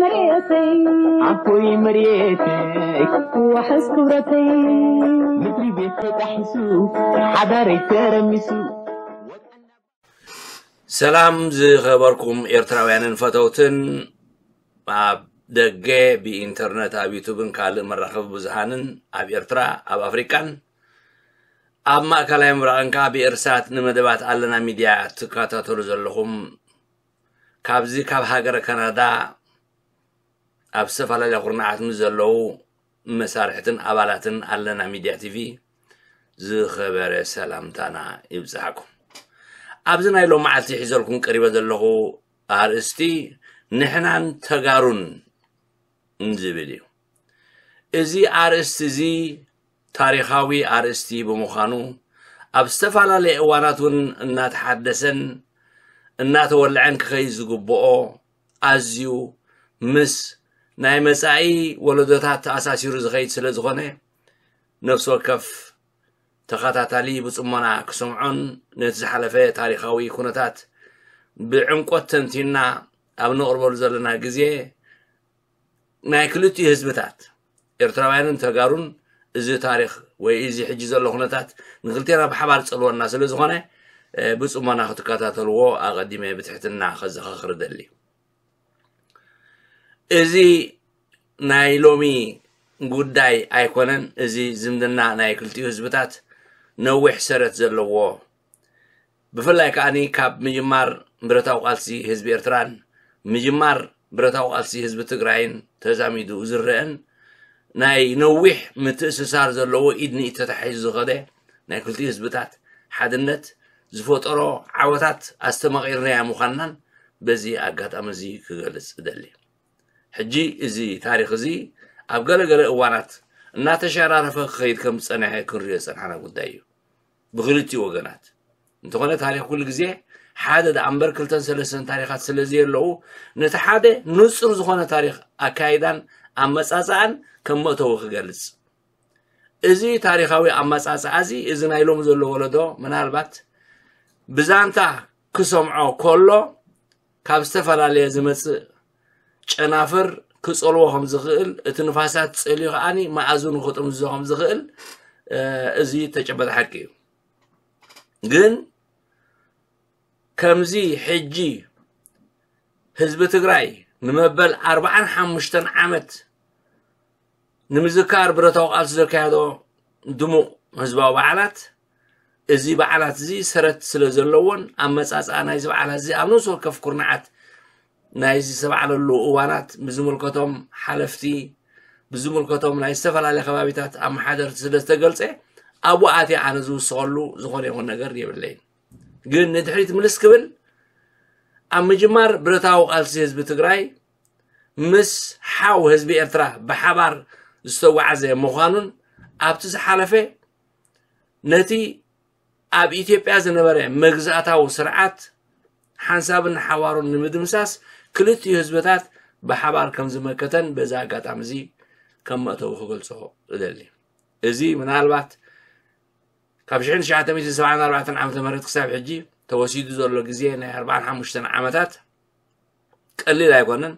መሬተይ ዓቦይ መሬተይ ዋሕስ ክብረተይ ምድሪ ቤት ተጣሒሱ ሓዳረይ ተረሚሱ። ሰላም ዝኸበርኩም ኤርትራውያንን ፈተውትን ኣብ ደገ ብኢንተርነት ኣብ ዩቱብን ካልእ መራኸቢ ብዙሃንን ኣብ ኤርትራ ኣብ ኣፍሪቃን ኣብ ማእከላይ ምብራቕን ከኣ ብኤርሳት ንመደባት ኣለና ሚድያ ትከታተሉ ዘለኹም ካብዚ ካብ ሃገረ ካናዳ ኣብ ዝተፈላለያ ኩርናዓት ምስ ዘለዉ መሳርሕትን ኣባላትን ኣለና ሚድያ ቲቪ ዝኸበረ ሰላምታና ይብጽሓኩም። ኣብዚ ናይ ሎም መዓልቲ ሒዘልኩም ቀሪበ ዘለኹ ኣርእስቲ ንሕናን ተጋሩን ዝብል እዩ። እዚ ኣርእስቲ እዚ ታሪኻዊ ኣርእስቲ ብምዃኑ ኣብ ዝተፈላለየ እዋናት እውን እናተሓደሰን እናተወልዐን ክኸይድ ዝግብኦ ኣዝዩ ምስ ናይ መጻኢ ወለዶታት ተኣሳሲሩ ዝኸይድ ስለ ዝኾነ ነፍሲ ወከፍ ተኸታታሊ ብጽሞና ክሰምዖን ነቲ ዝሓለፈ ታሪኻዊ ኩነታት ብዕምቆት ተንቲና ኣብ ነቕርበሉ ዘለና ግዜ ናይ ክልቲኡ ህዝብታት ኤርትራውያንን ተጋሩን እዚ ታሪኽ ወይ እዚ ሕጂ ዘሎ ኩነታት ንክልቴና ብሓባር ጸልወና ስለ ዝኾነ ብጽሞና ክትከታተልዎ ኣቐዲመ ብትሕትና ከዘኻኽር እደሊ። እዚ ናይ ሎሚ ጉዳይ ኣይኮነን። እዚ ዝምድና ናይ ክልቲኡ ህዝብታት ነዊሕ ሰረት ዘለዎ ብፍላይ ከኣ ካብ ምጅማር ብረታዊ ቃልሲ ህዝቢ ኤርትራን ምጅማር ብረታዊ ቃልሲ ህዝቢ ትግራይን ተዛሚዱ ዝረአን ናይ ነዊሕ ምትእስሳር ዘለዎ ኢድ ንኢድ ተታሒዙ ዝኸደ ናይ ክልቲኡ ህዝብታት ሓድነት ዝፈጠሮ ዓወታት ኣስተማቒርናያ ምዃንናን በዚ ኣጋጣሚ እዚ ክገልጽ እደሊ። ሕጂ እዚ ታሪኽ እዚ ኣብ ገለገለ እዋናት እናተሸራረፈ ክኸይድ ከም ዝጸንሐ ክንሪኦ ዝጸንሓና ጉዳይ እዩ። ብክልቲኡ ወገናት እንተኾነ ታሪኽ ኩሉ ግዜ ሓደ ደኣ እምበር ክልተን ሰለስተን ታሪኻት ስለ ዘየለዉ ነቲ ሓደ ንጹር ዝኾነ ታሪኽ ኣካይዳን ኣመጻጽኣን ከም መእተዊ ክገልጽ እዚ ታሪኻዊ ኣመጻጽኣ እዚ እዚ ናይ ሎም ዘሎ ወለዶ ምናልባት ብዛንታ ክሰምዖ ከሎ ካብ ዝተፈላለየ ዝመጽእ ጨናፍር ክጸልዎ ከም ዝኽእል እቲ ንፋሳት ጸልዩ ከኣኒ መኣዝኑ ክጥምዝዞ ከም ዝኽእል እዚ ተጨበጠ ሓቂ እዩ። ግን ከምዚ ሕጂ ህዝቢ ትግራይ ንመበል ኣርባዓን ሓሙሽተን ዓመት ንምዝካር ብረታዊ ቃልሲ ዘካየዶ ድሙቕ ህዝባዊ በዓላት እዚ በዓላት እዚ ሰረት ስለ ዘለዎን ኣመጻጽኣ ናይዚ በዓላት እዚ ኣብ ነፍሲ ወከፍ ኩርናዓት ናይዚ ዝተባዕለሉ እዋናት ብዝምልከቶም ሓለፍቲ ብዝምልከቶም ናይ ዝተፈላለየ ከባቢታት ኣመሓደርቲ ስለ ዝተገልጸ ኣብኡ ኣትየ ኣነ ዝውስኸሉ ዝኾነ ይኹን ነገር የብለይን። ግን ንድሕሪት ምልስ ክብል ኣብ ምጅማር ብረታዊ ቃልሲ ህዝቢ ትግራይ ምስ ሓው ህዝቢ ኤርትራ ብሓባር ዝተጓዓዘ ምዃኑን ኣብቲ ዝሓለፈ ነቲ ኣብ ኢትዮጵያ ዝነበረ መግዛእታዊ ስርዓት ሓንሳብን ሓዋሩን ንምድምሳስ ክልቲኡ ህዝብታት ብሓባር ከም ዝመከተን በዚ ኣጋጣሚ እዚ ከም መእተዊ ክገልጾ እደሊ። እዚ ምናልባት ካብ ሽሕን ትሽዓተ ሚእትን ሰብዓን ኣርባዕተን ዓመተ ምህረት ክሳብ ሕጂ ተወሲዱ ዘሎ ግዜ ናይ ኣርባዓን ሓሙሽተን ዓመታት ቀሊል ኣይኮነን።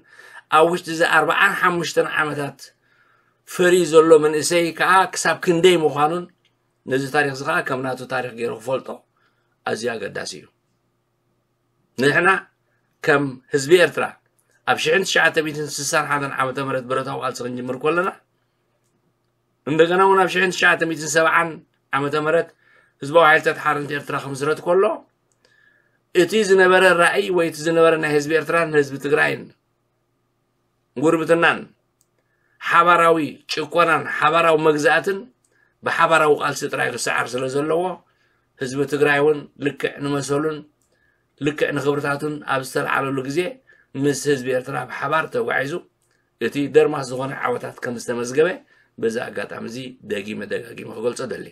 ኣብ ውሽጢ እዚ ኣርባዓን ሓሙሽተን ዓመታት ፈርዩ ዘሎ መንእሰይ ከዓ ክሳብ ክንደይ ምዃኑን ነዚ ታሪኽ እዚ ከዓ ከም ናቱ ታሪኽ ገይሩ ክፈልጦ ኣዝዩ ኣገዳሲ እዩ። ንሕና ከም ህዝቢ ኤርትራ ኣብ ሽሕን ትሽዓተ ሚእትን ስሳን ሓደን ዓመተ ምህረት ብረታዊ ቃልሲ ክንጅምር ከለና እንደገና እውን ኣብ ሽሕን ትሽዓተ ሚእትን ሰብዓን ዓመተ ምህረት ህዝባዊ ሓይልታት ሓርነት ኤርትራ ክምስረት ከሎ እቲ ዝነበረ ራእይ ወይ እቲ ዝነበረ ናይ ህዝቢ ኤርትራን ህዝቢ ትግራይን ጉርብትናን ሓባራዊ ጭቆናን ሓባራዊ መግዛእትን ብሓባራዊ ቃልሲ ጥራይ ክሰዓር ስለ ዘለዎ ህዝቢ ትግራይ እውን ልክዕ ንመሰሉን ልክዕ ንክብርታቱን ኣብ ዝተለዓለሉ ግዜ ምስ ህዝቢ ኤርትራ ብሓባር ተጓዒዙ እቲ ደርማስ ዝኾነ ዓወታት ከም ዝተመዝገበ በዚ ኣጋጣሚ እዚ ደጊመ ደጋጊመ ክገልጾ ደሊ።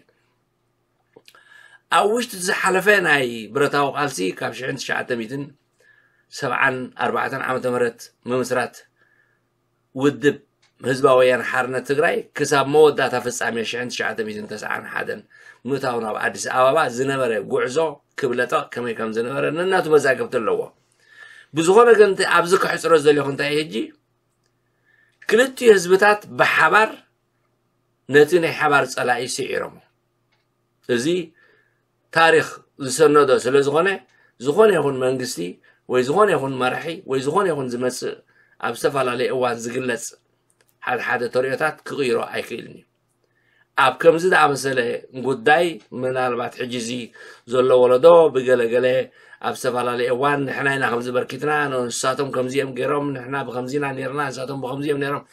ኣብ ውሽጢ ዝሓለፈ ናይ ብረታዊ ቃልሲ ካብ ሽሕን ትሽዓተ ሚእትን ሰብዓን ኣርባዕተን ዓመተ ምህረት ምምስራት ውድብ ህዝባዊ ወያነ ሓርነት ትግራይ ክሳብ መወዳእታ ፍጻሜ ሽሕን ትሽዓተ ሚእትን ተስዓን ሓደን ምእታው ናብ ኣዲስ ኣበባ ዝነበረ ጉዕዞ ክብለጠቕ ከመይ ከም ዝነበረ ነናቱ መዛግብቲ ኣለዎ። ብዝኾነ ግን እቲ ኣብዚ ክሕፅሮ ዝደለኹ እንታይ እዩ ሕጂ ክልቲኡ ህዝብታት ብሓባር ነቲ ናይ ሓባር ጸላኢ ስዒሮሞ። እዚ ታሪኽ ዝሰነዶ ስለ ዝኾነ፣ ዝኾነ ይኹን መንግስቲ ወይ ዝኾነ ይኹን መራሒ ወይ ዝኾነ ይኹን ዝመጽእ ኣብ ዝተፈላለየ እዋን ዝግለጽ ሓደ ሓደ ተርእዮታት ክቕይሮ ኣይክእልን እዩ። ኣብ ከምዚ ዝኣመሰለ ጉዳይ ምናልባት ሕጂ እዚ ዘሎ ወለዶ ብገለገለ ኣብ ዝተፈላለየ እዋን ንሕና ኢና ከምዚ በርኪትና፣ ንሳቶም ከምዚ እዮም ገይሮም፣ ንሕና ብከምዚ ኢና ነርና፣ ንሳቶም ብከምዚ እዮም ነሮም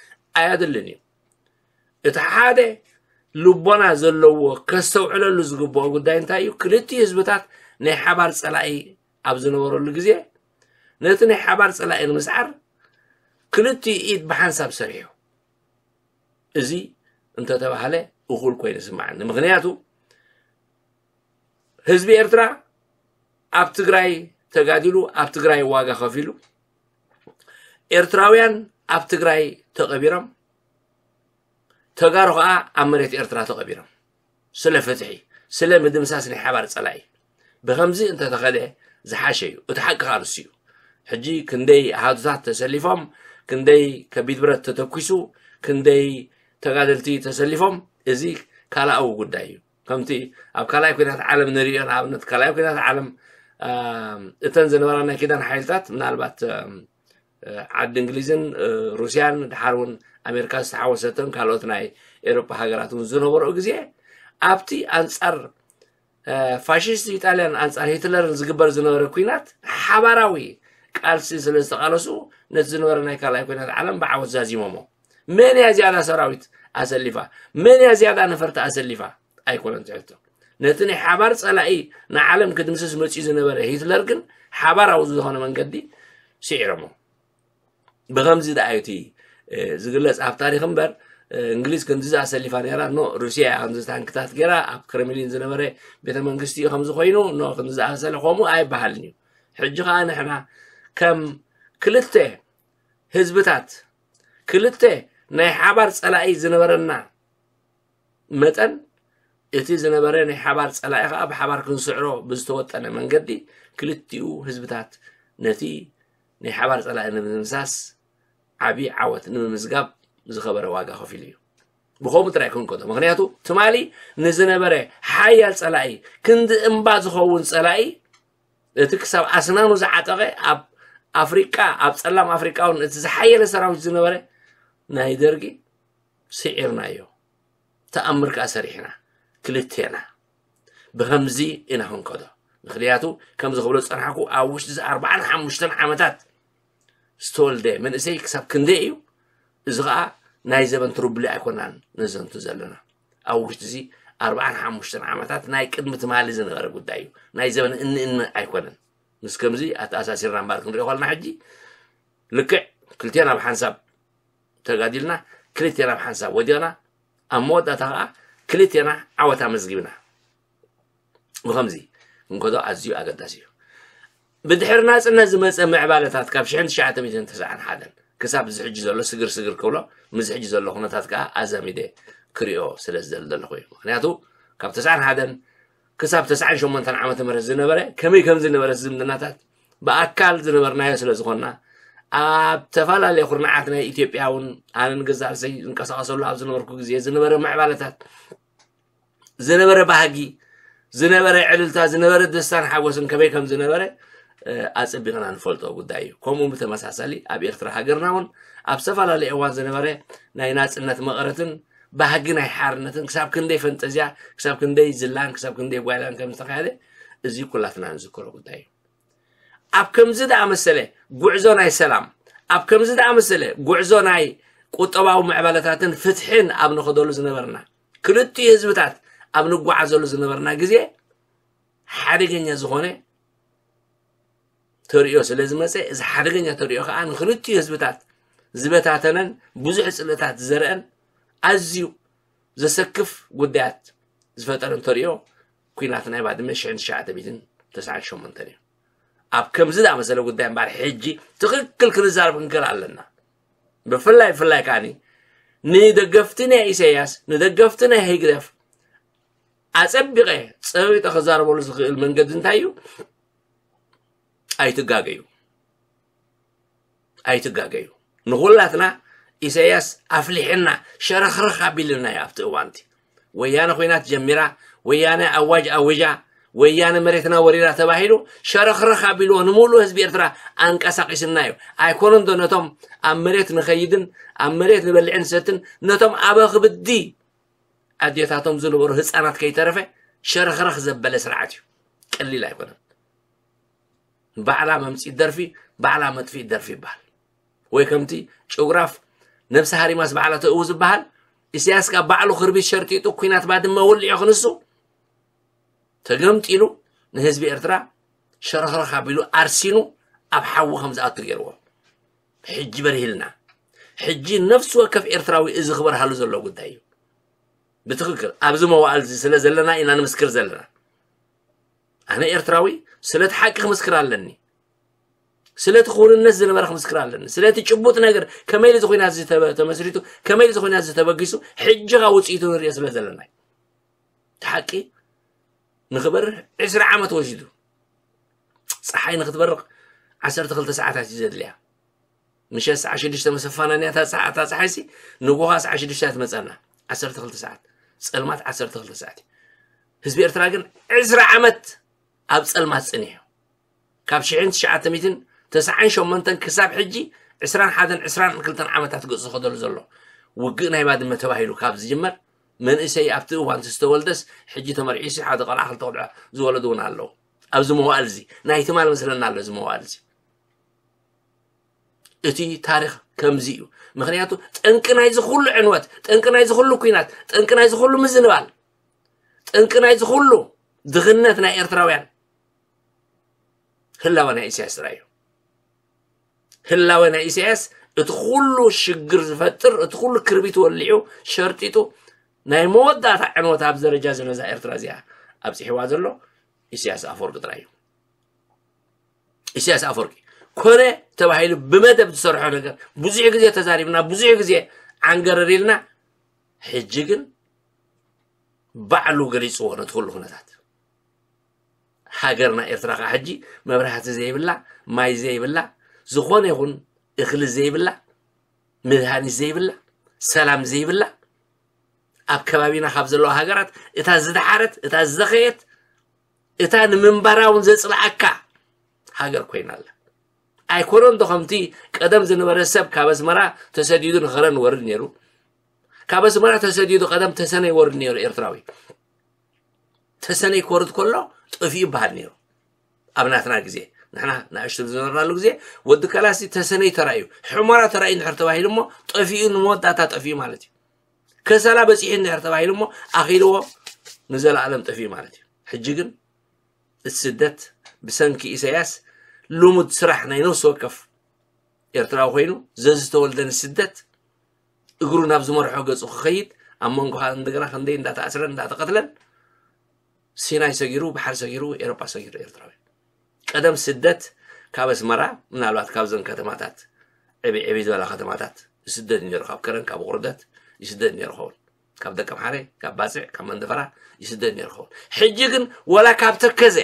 ኣየድልን እዩ። እቲ ሓደ ልቦና ዘለዎ ከስተውዕለሉ ዝግብኦ ጉዳይ እንታይ እዩ? ክልቲኡ ህዝብታት ናይ ሓባር ጸላኢ ኣብ ዝነበረሉ ግዜ ነቲ ናይ ሓባር ጸላኢ ንምስዓር ክልቲኡ ኢድ ብሓንሳብ ሰሪሑ። እዚ እንተተባህለ እኹል ኮይኑ ይስምዓኒ። ምኽንያቱ ህዝቢ ኤርትራ ኣብ ትግራይ ተጋዲሉ፣ ኣብ ትግራይ ዋጋ ከፊሉ፣ ኤርትራውያን ኣብ ትግራይ ተቐቢሮም፣ ተጋሩ ኸዓ ኣብ መሬት ኤርትራ ተቐቢሮም። ስለ ፍትሒ፣ ስለ ምድምሳስ ናይ ሓባር ጸላኢ። ብኸምዚ እንተተኸደ ዝሓሸ እዩ። እቲ ሓቂ ኸዓ ንሱ እዩ። ሕጂ ክንደይ ኣሃዱታት ተሰሊፎም፣ ክንደይ ከቢድ ብረት ተተኲሱ፣ ክንደይ ተጋደልቲ ተሰሊፎም፣ እዚ ካልኣዊ ጉዳይ እዩ። ከምቲ ኣብ ካልኣይ ኲናት ዓለም ንሪኦ፣ ንኣብነት ካልኣይ ኲናት ዓለም፣ ኣም፣ እተን ዝነበራ ናይ ኪዳን ሓይልታት ምናልባት፣ ኣም፣ ዓዲ እንግሊዝን፣ እ፣ ሩስያን፣ ድሓር እውን ኣሜሪካ ዝተሓወሰተን ካልኦት ናይ ኤውሮጳ ሃገራት እውን ዝነበረኡ ግዜ፣ ኣብቲ ኣንጻር፣ እ፣ ፋሽስት ኢጣልያን ኣንጻር ሂትለርን ዝግበር ዝነበረ ኲናት ሓባራዊ ቃልሲ ስለ ዝተቓለሱ፣ ነቲ ዝነበረ ናይ ካልኣይ ኲናት ዓለም ብዓወት ዛዚሞሞ። መን እያ ዝያዳ ሰራዊት ኣሰሊፋ? መን እያ ዝያዳ ነፈርቲ ኣሰሊፋ? ኣይኮነን ትሕቶ። ነቲ ናይ ሓባር ጸላኢ ንዓለም ክድምስስ መጺኡ ዝነበረ ሂትለር ግን ሓባራዊ ዝኾነ መንገዲ ስዒሮሞ። ብኸምዚ ደኣ እዩ እቲ፣ እ፣ ዝግለጽ ኣብ ታሪኽ እምበር፣ እ፣ እንግሊዝ ክንድዚ ኣሰሊፋ ነይራ፣ ኖ፣ ሩስያ እያ ክንድዚ ታንክታት ገይራ፣ ኣብ ክረምሊን ዝነበረ ቤተ መንግስቲ እዩ ከምዚ ኮይኑ፣ ኖ፣ ክንድዚ ኣሰለ፣ ከምኡ ኣይበሃልን እዩ። ሕጂ ኸኣ ንሕና ከም ክልተ ህዝብታት፣ ክልተ ናይ ሓባር ጸላኢ ዝነበረና መጠን፣ እቲ ዝነበረ ናይ ሓባር ጸላኢ ኸኣ ብሓባር ክንስዕሮ ብዝተወጠነ መንገዲ፣ ክልቲኡ ህዝብታት ነቲ ናይ ሓባር ጸላኢ ንምድምሳስ ዓቢ ዓወት ንምምዝጋብ ዝኸበረ ዋጋ ከፊሉ እዩ። ብኸምኡ ጥራይ ክንከዶ። ምኽንያቱ ትማሊ ንዝነበረ ሓያል ጸላኢ፣ ክንዲ እምባ ዝኸውን ጸላኢ፣ እቲ ክሳብ ኣስናኑ ዝዓጠቐ ኣብ ኣፍሪቃ፣ ኣብ ጸላም ኣፍሪቃ እውን እቲ ዝሓየለ ሰራዊት ዝነበረ ናይ ደርጊ ስዒርናዮ። ተኣምር ከኣ ሰሪሕና ክልቴና። ብኸምዚ ኢና ክንከዶ። ምኽንያቱ ከምዚ ክብሎ ዝጸናሕኩ ኣብ ውሽጢ እዚ ኣርባዓን ሓሙሽተን ዓመታት ዝተወልደ መንእሰይ ክሳብ ክንደይ እዩ? እዚ ኸኣ ናይ ዘበን ትርብሊ ኣይኮናን ነዘንቱ ዘለና። ኣብ ውሽጢ እዚ ኣርባዓን ሓሙሽተን ዓመታት ናይ ቅድሚ ትማሊ ዝነበረ ጉዳይ እዩ። ናይ ዘበን እኒ እኒ ኣይኮነን። ምስ ከምዚ ኣተኣሳሲርና እምበር ክንሪኦ ከለና ሕጂ ልክዕ ክልቴና ብሓንሳብ ተጋዲልና፣ ክልቴና ብሓንሳብ ወዲቕና፣ ኣብ መወዳእታ ኸኣ ክልቴና ዓወት ኣመዝጊብና። ብኸምዚ ክንከዶ ኣዝዩ ኣገዳሲ እዩ። ብድሕሪ ናጽነት ዝመጸ ምዕባለታት ካብ ሽሕን ትሽዓተ ሚእትን ተስዓን ሓደን ክሳብ እዚ ሕጂ ዘሎ ስግር ስግር ክብሎ፣ ምስ ሕጂ ዘሎ ኩነታት ከኣ ኣዛሚደ ክሪኦ ስለ ዝደሊ ዘለኹ እዩ። ምኽንያቱ ካብ ተስዓን ሓደን ክሳብ ተስዓን ሸሞንተን ዓመተ ምህረት ዝነበረ ከመይ ከም ዝነበረ ዝምድናታት ብኣካል ዝነበርናዮ ስለ ዝኾንና፣ ኣብ ተፈላለየ ኩርናዓት ናይ ኢትዮጵያ እውን ኣነ ንገዛእ ርእሰይ ዝንቀሳቐሰሉ ኣብ ዝነበርኩ ግዜ ዝነበረ ምዕባለታት፣ ዝነበረ ባህጊ፣ ዝነበረ ዕልልታ፣ ዝነበረ ደስታን ሓጎስን ከመይ ከም ዝነበረ፣ እ፣ ኣጸቢቕና ንፈልጦ ጉዳይ እዩ። ከምኡ ብተመሳሳሊ ኣብ ኤርትራ ሃገርና እውን ኣብ ዝተፈላለየ እዋን ዝነበረ ናይ ናጽነት መቐረትን ባህጊ ናይ ሓርነትን ክሳብ ክንደይ ፈንጠዝያ፣ ክሳብ ክንደይ ዝላን፣ ክሳብ ክንደይ ጓይላን ከም ዝተኻየደ እዚ ኩላትና ንዝክሮ ጉዳይ እዩ። ኣብ ከምዚ ደኣ መሰለ ጉዕዞ ናይ ሰላም፣ ኣብ ከምዚ ደኣ መሰለ ጉዕዞ ናይ ቁጠባዊ ምዕባለታትን ፍትሕን ኣብ ንኸደሉ ዝነበርና፣ ክልቲኡ ህዝብታት ኣብ ንጓዓዘሉ ዝነበርና ግዜ ሓደገኛ ዝኾነ ተርእዮ ስለ ዝመጸ፣ እዚ ሓደገኛ ተርእዮ ከኣ ንክልቲኡ ህዝብታት ዝበታተነን ብዙሕ ጽልእታት ዝዘርአን ኣዝዩ ዘሰክፍ ጉዳያት ዝፈጠረን ተርእዮ ኲናት ናይ ባድመ ሽሕን ትሽዓተ ሚእትን ተስዓን ሸሞንተን እዩ። ኣብ ከምዚ ዝኣመሰለ ጉዳይ እምበኣር ሕጂ ትኽክል ክንዛረብ ክንክእል ኣለና። ብፍላይ፣ ብፍላይ ከኣኒ ንደገፍቲ ናይ ኢሳያስ፣ ንደገፍቲ ናይ ህግደፍ ኣጸቢቐ ጸቢጠ ክዛረበሉ ዝኽእል መንገዲ እንታይ እዩ? ኣይትጋገዩ። ኣይትጋገዩ። ንኹላትና ኢሳያስ ኣፍሊሕና ሸረኽረኽ ኣቢልና እዩ ኣብቲ እዋንቲ። ወያነ ኮይናት ጀሚራ፣ ወያነ ኣዋጅ ኣውጃ፣ ወያነ መሬትና ወሪራ ተባሂሉ ሸረኽረኽ ኣቢልዎ ንምሉእ ህዝቢ ኤርትራ ኣንቀሳቂስና እዩ። ኣይኮነን ዶ ነቶም ኣብ መሬት ንኸይድን ኣብ መሬት ንበልዕን ንሰትን ነቶም ኣበኽብዲ ኣዴታቶም ዝነበሩ ህፃናት ከይተረፈ ሸረኽረኽ ዘበለ ስርዓት እዩ። ቀሊል ኣይኮነን። ባዕላ መምፂት ደርፊ፣ ባዕላ መጥፊት ደርፊ ይበሃል። ወይ ከምቲ ጭጉራፍ ነብሲ ሃሪማስ ባዕላ ተእዊ ዝበሃል፣ ኢሳያስ ካብ ባዕሉ ክርቢት ሸርጢጡ ኩናት ባድመ ወሊዑ ክንሱ ተገምጢሉ ንህዝቢ ኤርትራ ሸረኽረኽ ኣቢሉ ኣርሲኑ ኣብ ሓዊ ከም ዝኣቱ ገይርዎ። ሕጂ በሪህልና። ሕጂ ነፍሲ ወከፍ ኤርትራዊ እዚ ክበርሃሉ ዘሎ ጉዳይ እዩ። ብትኽክል ኣብዚ መዋእል እዚ ስለ ዘለና ኢና ንምስክር ዘለና። ኣነ ኤርትራዊ ስለቲ ሓቂ ክምስክር ኣለኒ። ስለቲ ክውንነት ዝነበረ ክምስክር ኣለኒ። ስለቲ ጭቡጥ ነገር ከመይ ኢሉ እዚ ኩናት እዚ ተበ-፣ ተመስሪቱ፣ ከመይ ኢሉ እዚ ኩናት እዚ ተበጊሱ፣ ሕጂ ኸኣ ውፅኢቱ ንሪኦ ስለ ዘለና እዩ። እቲ ሓቂ ንኽበርህ ዕስራ ዓመት ወሲዱ። ፀሓይ ንክትበርቕ ዓሰርተ ክልተ ሰዓታት እዩ ዘድልያ። ምሸት ሰዓት ሽዱሽተ መሰፋና እኒኣ እታ ፀሓ-፣ እታ ፀሓይሲ ንጎኻ ሰዓት ሽዱሽተ እያ ትመፀና። ዓሰርተ ክልተ ሰዓት። ፀልማት ዓሰርተ ክልተ ሰዓት እዩ። ህዝቢ ኤርትራ ግን ዕስራ ዓመት ኣብ ፀልማት ፀኒሑ። ካብ ሽሕን ትሽዓተ ሚእትን ተስዓን ሸሞንተን ክሳብ ሕጂ ዕስራን ሓደን ዕስራን ክልተን ዓመታት ገፁ ዝኸደሉ ዘሎ። ውግእ ናይ ባድመ ተባሂሉ ካብ ዝጅመር መንእሰይ ኣብቲ እዋን ዝተወልደስ ሕጂ ተመርዒሱ ሓደ ቆልዓ ክልተ ቆልዓ ዝወለዱ እውን ኣለዉ። ኣብዚ መዋእል እዚ ናይ ትማል መስለና ኣሎ እዚ መዋእል እዚ። እቲ ታሪኽ ከምዚ እዩ። ምኽንያቱ ጠንቂ ናይዚ ኩሉ ዕንወት፣ ጠንቂ ናይዚ ኩሉ ኩናት፣ ጠንቂ ናይዚ ኩሉ ምዝንባል፣ ጠንቂ ናይዚ ኩሉ ድኽነት ናይ ኤርትራውያን ህላወ ናይ ኢሳያስ ጥራይ እዩ። ህላወ ናይ ኢሳያስ እቲ ኩሉ ሽግር ዝፈጥር፣ እቲ ኩሉ ክርቢት ወሊዑ ሸርጢጡ ናይ መወዳእታ ዕንወት ኣብ ደረጃ እዚ ነዛ ኤርትራ እዚኣ ኣብፂሕዋ ዘሎ ኢሳያስ ኣፈወርቂ ጥራይ እዩ። ኢሳያስ ኣፈወርቂ ኮነ ተባሂሉ ብመደብ ዝሰርሖ ነገር ብዙሕ ግዜ ተዛሪብና፣ ብዙሕ ግዜ ዓንገረር ኢልና፣ ሕጂ ግን ባዕሉ ገሊፅዎ ነቲ ኩሉ ኩነታት። ሃገርና ኤርትራ ከዓ ሕጂ መብራህቲ ዘይብላ፣ ማይ ዘይብላ፣ ዝኾነ ይኹን እኽሊ ዘይብላ፣ መድሃኒት ዘይብላ፣ ሰላም ዘይብላ፣ ኣብ ከባቢና ካብ ዘለዋ ሃገራት እታ ዝደሓረት፣ እታ ዝደኸየት፣ እታ ንምንባራ እውን ዘጽልኣካ ሃገር ኮይና ኣላ። ኣይኮነን ዶ ከምቲ ቀደም ዝነበረ ሰብ ካብ ኣስመራ ተሰዲዱ ንኸረን ይወርድ ነይሩ? ካብ ኣስመራ ተሰዲዱ ቀደም ተሰነ ይወርድ ነይሩ ኤርትራዊ። ተሰነይ ክወርድ ከሎ ጠፊኡ ይበሃል ነይሩ። ኣብ ናትና ግዜ፣ ንሕና ንኣሽቱ ዝነበርናሉ ግዜ፣ ወዲ ከላሲ ተሰነይ ተራእዩ፣ ሕሞራ ተራእዩ እንድሕር ተባሂሉ እሞ ጠፊኡ፣ ንመወዳእታ ጠፊኡ ማለት እዩ። ከሰላ በጺሑ እንድሕር ተባሂሉ እሞ ኣኺልዎ ንዘለኣለም ጠፊኡ ማለት እዩ። ሕጂ ግን እቲ ስደት ብሰንኪ ኢሳያስ ልሙድ ስራሕ ናይ ነፍሲ ወከፍ ኤርትራዊ ኮይኑ፣ ዘዝተወልደ ንስደት እግሩ ናብ ዝመርሖ ገጹ ክኸይድ፣ ኣብ መንጎ ከዓ እንደገና ክንደይ እንዳተኣስረን እንዳተቐትለን፣ ሲናይ ሰጊሩ፣ ባሕሪ ሰጊሩ፣ ኤሮጳ ሰጊሩ ኤርትራዊ። ቀደም ስደት ካብ ኣስመራ፣ ምናልባት ካብዘን ከተማታት ዕብይ ዕብይ ዝበላ ከተማታት ይስደድ ነይሩ፣ ካብ ከረን፣ ካብ ቁርደት ይስደድ ነይሩ ኸውን። ካብ ደቀምሓረ፣ ካብ ባጽዕ፣ ካብ መንደፈራ ይስደድ ነይሩ ኸውን። ሕጂ ግን ወላ ካብ ተከዘ፣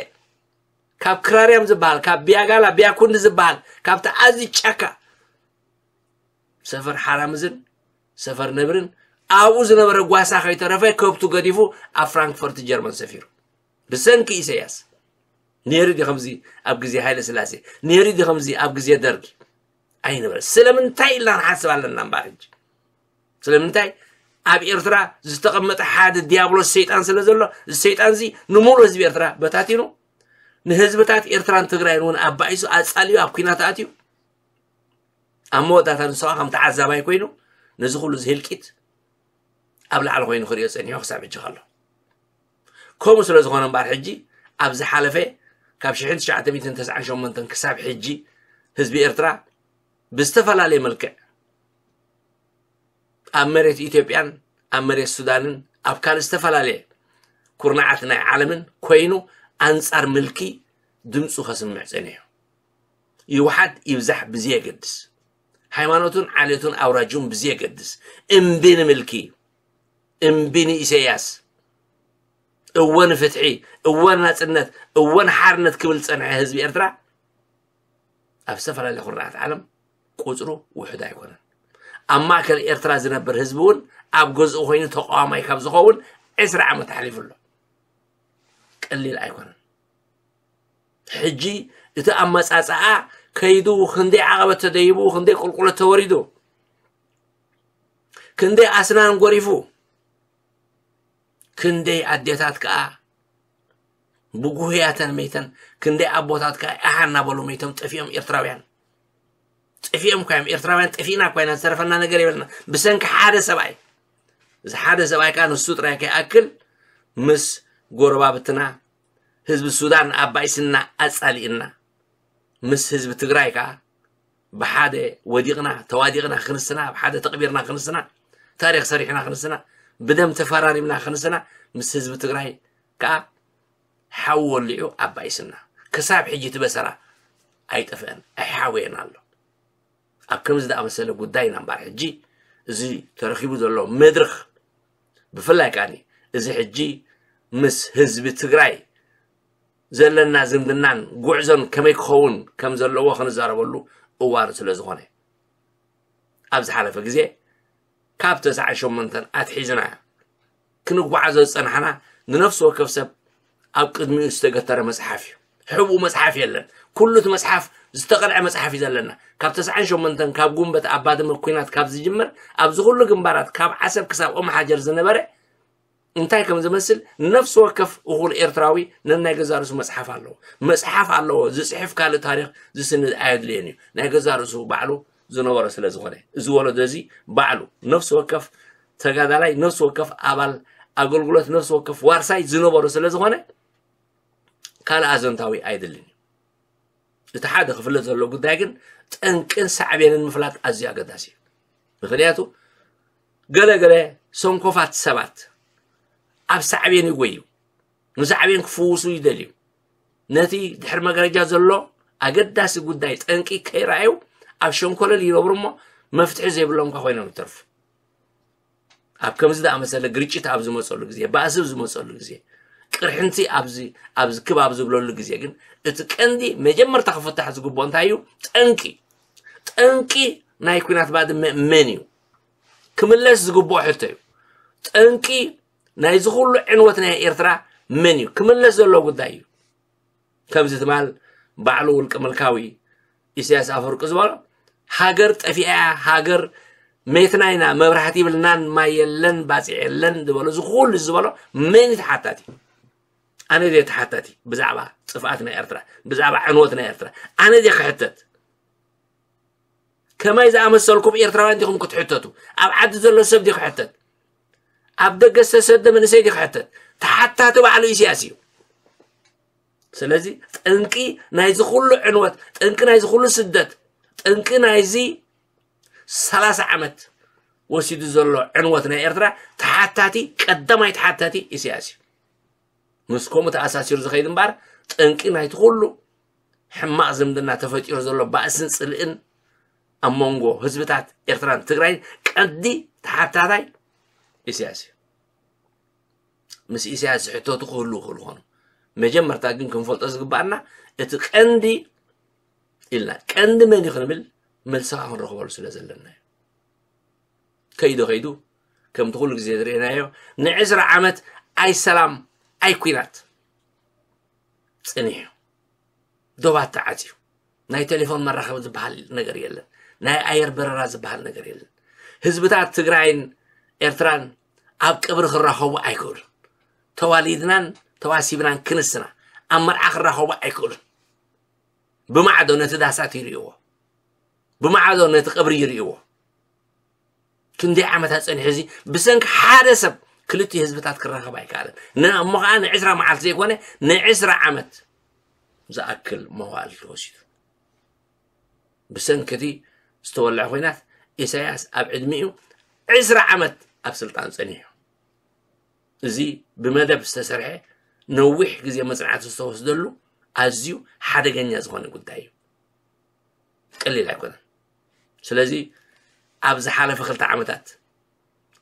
ካብ ክራርያም ዝበሃል፣ ካብ ቢያጋላ፣ ቢያኩንዲ ዝበሃል፣ ካብቲ ኣዝዩ ጫካ ሰፈር ሓራምዝን ሰፈር ነብርን ኣብኡ ዝነበረ ጓሳ ከይተረፈ ከብቱ ገዲፉ ኣብ ፍራንክፈርት ጀርመን ሰፊሩ። ብሰንኪ ኢሳያስ። ነይሩ ድዩ ከምዚ ኣብ ግዜ ሃይለ ስላሴ? ነይሩ ድዩ ከምዚ ኣብ ግዜ ደርጊ? ኣይነበረ። ስለምንታይ ኢልና ንሓስብ ኣለና እምበኣር ሕጂ። ስለምንታይ ኣብ ኤርትራ ዝተቐመጠ ሓደ ዲያብሎስ ሰይጣን ስለ ዘሎ፣ እዚ ሰይጣን እዚ ንሙሉእ ህዝቢ ኤርትራ በታቲኑ፣ ንህዝብታት ኤርትራን ትግራይን እውን ኣባኢሱ ኣጻልዩ ኣብ ኲናት ኣትዩ፣ ኣብ መወዳእታ ንሱ ኸዓ ከም ተዓዛባይ ኮይኑ ነዚ ኩሉ እዚ ህልቂት ኣብ ላዕሊ ኮይኑ ክሪኦ ጸኒሑ ክሳብ ሕጂ ከሎ። ከምኡ ስለ ዝኾነ እምበኣር ሕጂ ኣብ ዝሓለፈ ካብ ሽሕን ትሽዓተ ሚእትን ተስዓን ሸሞንተን ክሳብ ሕጂ ህዝቢ ኤርትራ ብዝተፈላለየ መልክዕ ኣብ መሬት ኢትዮጵያን ኣብ መሬት ሱዳንን ኣብ ካልእ ዝተፈላለየ ኩርናዓት ናይ ዓለምን ኮይኑ ኣንጻር ምልኪ ድምፁ ከስምዕ ጸኒሑ። ይውሓድ ይብዛሕ ብዘየገድስ፣ ሃይማኖቱን ዓሌቱን ኣውራጁን ብዘየገድስ፣ እምቢ ንምልኪ፣ እምቢ ንኢሳያስ፣ እወ ንፍትሒ፣ እወ ናጽነት፣ እወ ንሓርነት ክብል ዝጸንሐ ህዝቢ ኤርትራ ኣብ ዝተፈላለየ ኩርናዓት ዓለም ቁጽሩ ውሑድ ኣይኮነን። ኣብ ማእከል ኤርትራ ዝነብር ህዝቢ እውን ኣብ ገዝኡ ኮይኑ ተቃዋማይ ካብ ዝኸውን ዕስራ ዓመት ኣሕሊፉ ኣሎ። ቀሊል ኣይኮነን። ሕጂ እቲ ኣመጻጽኣ ከይዱ ክንደይ ዓቐበት ተደይቡ፣ ክንደይ ቁልቁለት ተወሪዱ፣ ክንደይ ኣስናን ጎሪፉ፣ ክንደይ ኣዴታት ከኣ ብጉህያተን መይተን፣ ክንደይ ኣቦታት ከኣ ኣሃ እናበሉ መይቶም ጠፊኦም ኤርትራውያን። ጠፊኦም እኳ እዮም ኤርትራውያን፣ ጠፊእና እኳ ኢና፣ ዝተረፈና ነገር የብልና። ብሰንኪ ሓደ ሰብኣይ። እዚ ሓደ ሰብኣይ ከኣ ንሱ ጥራይ ከይኣክል ምስ ጎረባብትና ህዝቢ ሱዳን ኣባኢስና ኣጻሊእና፣ ምስ ህዝቢ ትግራይ ከኣ ብሓደ ወዲቕና፣ ተዋዲቕና ክንስና፣ ብሓደ ተቕቢርና ክንስና፣ ታሪኽ ሰሪሕና ክንስና፣ ብደም ተፈራሪምና ክንስና፣ ምስ ህዝቢ ትግራይ ከኣ ሓዊ ወሊዑ ኣባኢስና። ክሳብ ሕጂ እቲ በሰላ ኣይጠፍአን፣ ኣይሓወየን ኣሎ። ኣብ ከምዚ ዝኣመሰለ ጉዳይ ኢና እምበር ሕጂ እዚ ተረኺቡ ዘሎ መድረኽ፣ ብፍላይ ከኣ እዚ ሕጂ ምስ ህዝቢ ትግራይ ዘለና ዝምድናን ጉዕዞን ከመይ ክኸውን ከም ዘለዎ ክንዛረበሉ እዋኑ ስለ ዝኾነ፣ ኣብ ዝሓለፈ ግዜ ካብ ተስዓን ሸሞንተን ኣትሒዝና ክንጓዓዞ ዝጸናሕና፣ ንነፍሲ ወከፍ ሰብ ኣብ ቅድሚኡ ዝተገተረ መጽሓፍ እዩ። ሕቡእ መጽሓፍ የለን። ኩሉ እቲ መጽሓፍ ዝተቐልዐ መጽሓፍ እዩ ዘለና። ካብ ተስዓን ሸሞንተን ካብ ጉንበት ኣብ ባድመ ኲናት ካብ ዝጅምር፣ ኣብዚ ኩሉ ግንባራት ካብ ዓሰብ ክሳብ ኦም ሓጀር ዝነበረ እንታይ ከም ዝመስል ንነፍሲ ወከፍ እኹል ኤርትራዊ ነናይ ገዛእ ርእሱ መጽሓፍ ኣለዎ። መጽሓፍ ኣለዎ፣ ዝጽሕፍ ካልእ ታሪኽ ዝስንድ ኣየድልዮን እዩ። ናይ ገዛእ ርእሱ ባዕሉ ዝነበሮ ስለ ዝኾነ፣ እዚ ወለዶ እዚ ባዕሉ ነፍሲ ወከፍ ተጋዳላይ፣ ነፍሲ ወከፍ ኣባል ኣገልግሎት፣ ነፍሲ ወከፍ ዋርሳይ ዝነበሮ ስለ ዝኾነ ካልእ ኣዘንታዊ ኣይድልን እዩ። እቲ ሓደ ክፍለጥ ዘለዎ ጉዳይ ግን ጠንቅን ሳዕቤንን ምፍላጥ ኣዝዩ ኣገዳሲ እዩ። ምኽንያቱ ገለ ገለ ሰንኮፋት ሰባት ኣብ ሳዕቤን ይጎዩ፣ ንሳዕቤን ክፍውሱ ይደልዩ። ነቲ ድሕሪ መጋረጃ ዘሎ ኣገዳሲ ጉዳይ ጠንቂ ከይረኣዩ ኣብ ሸንኮለል ይነብሩ እሞ መፍትሒ ዘይብሎም እንኳ ኮይኖም ይተርፉ። ኣብ ከምዚ ዝኣመሰለ ግርጭት ኣብ ዝመፀሉ ግዜ፣ ባእሲ ኣብ ዝመፀሉ ግዜ፣ ቅርሕንቲ ኣብዚ ኣብዚ ክብ ኣብ ዝብለሉ ግዜ ግን እቲ ቀንዲ መጀመርታ ክፍታሕ ዝግብኦ እንታይ እዩ? ጠንቂ። ጠንቂ ናይ ኲናት ባድመ መን እዩ? ክምለስ ዝግብኦ ሕቶ እዩ። ጠንቂ ናይዚ ኩሉ ዕንወት ናይ ኤርትራ መን እዩ? ክምለስ ዘለዎ ጉዳይ እዩ። ከምዚ ትማል ባዕሉ ውልቀ ምልካዊ ኢሳያስ ኣፈወርቂ ዝበሎ፣ ሃገር ጠፊኣ፣ ሃገር መይትና ኢና፣ መብራህቲ ይብልናን ማይ የለን፣ ባጽዕ የለን ዝበሎ፣ እዚ ኩሉ ዝበሎ መን እዩ ተሓታቲ? ኣነ ድየ ተሓታቲ ብዛዕባ ጥፍኣት ናይ ኤርትራ፣ ብዛዕባ ዕንወት ናይ ኤርትራ? ኣነ ድየ ክሕተት? ከማይ ዝኣመሰልኩም ኤርትራውያን ዲኹም ክትሕተቱ? ኣብ ዓዲ ዘሎ ሰብ ድዩ ክሕተት? ኣብ ደገ ዝተሰደ መንእሰይ ድዩ ክሕተት? ተሓታቲ ባዕሉ ኢሳያስ እዩ። ስለዚ ጠንቂ ናይዚ ኩሉ ዕንወት፣ ጠንቂ ናይዚ ኩሉ ስደት፣ ጠንቂ ናይዚ ሰላሳ ዓመት ወሲዱ ዘሎ ዕንወት ናይ ኤርትራ ተሓታቲ፣ ቀዳማይ ተሓታቲ ኢሳያስ እዩ። ምስ ከምኡ ተኣሳሲሩ ዝኸይድ እምበር ጠንቂ ናይቲ ኩሉ ሕማቕ ዝምድና ተፈጢሩ ዘሎ ባእስን ጽልእን ኣብ መንጎ ህዝብታት ኤርትራን ትግራይን ቀንዲ ተሓታታይ ኢሳያስ እዩ። ምስ ኢሳያስ ዝሕተቱ ክህልዉ ይኽእሉ ይኾኑ። መጀመርታ ግን ክንፈልጦ ዝግባኣና እቲ ቀንዲ ኢልና፣ ቀንዲ መን እዩ ክንብል መልስኻ ክንረኽበሉ ስለ ዘለና እዩ። ከይዱ ከይዱ ከምቲ ኩሉ ግዜ ዝርኤናዮ ንዕስራ ዓመት ኣይ ሰላም ኣይ ኲናት ጸኒሑ፣ ዶባት ተዓጽዩ፣ ናይ ቴሌፎን መራኸቢ ዝበሃል ነገር የለን፣ ናይ ኣየር በረራ ዝበሃል ነገር የለን። ህዝብታት ትግራይን ኤርትራን ኣብ ቀብሪ ክራኸቡ ኣይክእሉን። ተዋሊድናን ተዋሲብናን ክንስና ኣብ መርዓ ክራኸቡ ኣይክእሉን። ብማዕዶ ነቲ ዳሳት ይርእይዎ፣ ብማዕዶ ነቲ ቀብሪ ይርእይዎ። ክንደይ ዓመታት ጸኒሑ እዚ ብሰንኪ ሓደ ሰብ ክልቲኡ ህዝብታት ክራኸብ ኣይከኣለን። ን-፣ እሞ ኸዓ ንዕስራ መዓልቲ ዘይኮነ ንዕስራ ዓመት ዝኣክል መዋእል ተወሲዱ። ብሰንኪ እቲ ዝተወልዐ ኲናት ኢሳያስ ኣብ ዕድሚኡ ዕስራ ዓመት ኣብ ስልጣን ጸኒሑ። እዚ ብመደብ ዝተሰርሐ ነዊሕ ግዜ መጽናዕቲ ዝተወስደሉ ኣዝዩ ሓደገኛ ዝኾነ ጉዳይ እዩ። ቀሊል ኣይኮነን። ስለዚ ኣብ ዝሓለፈ ክልተ ዓመታት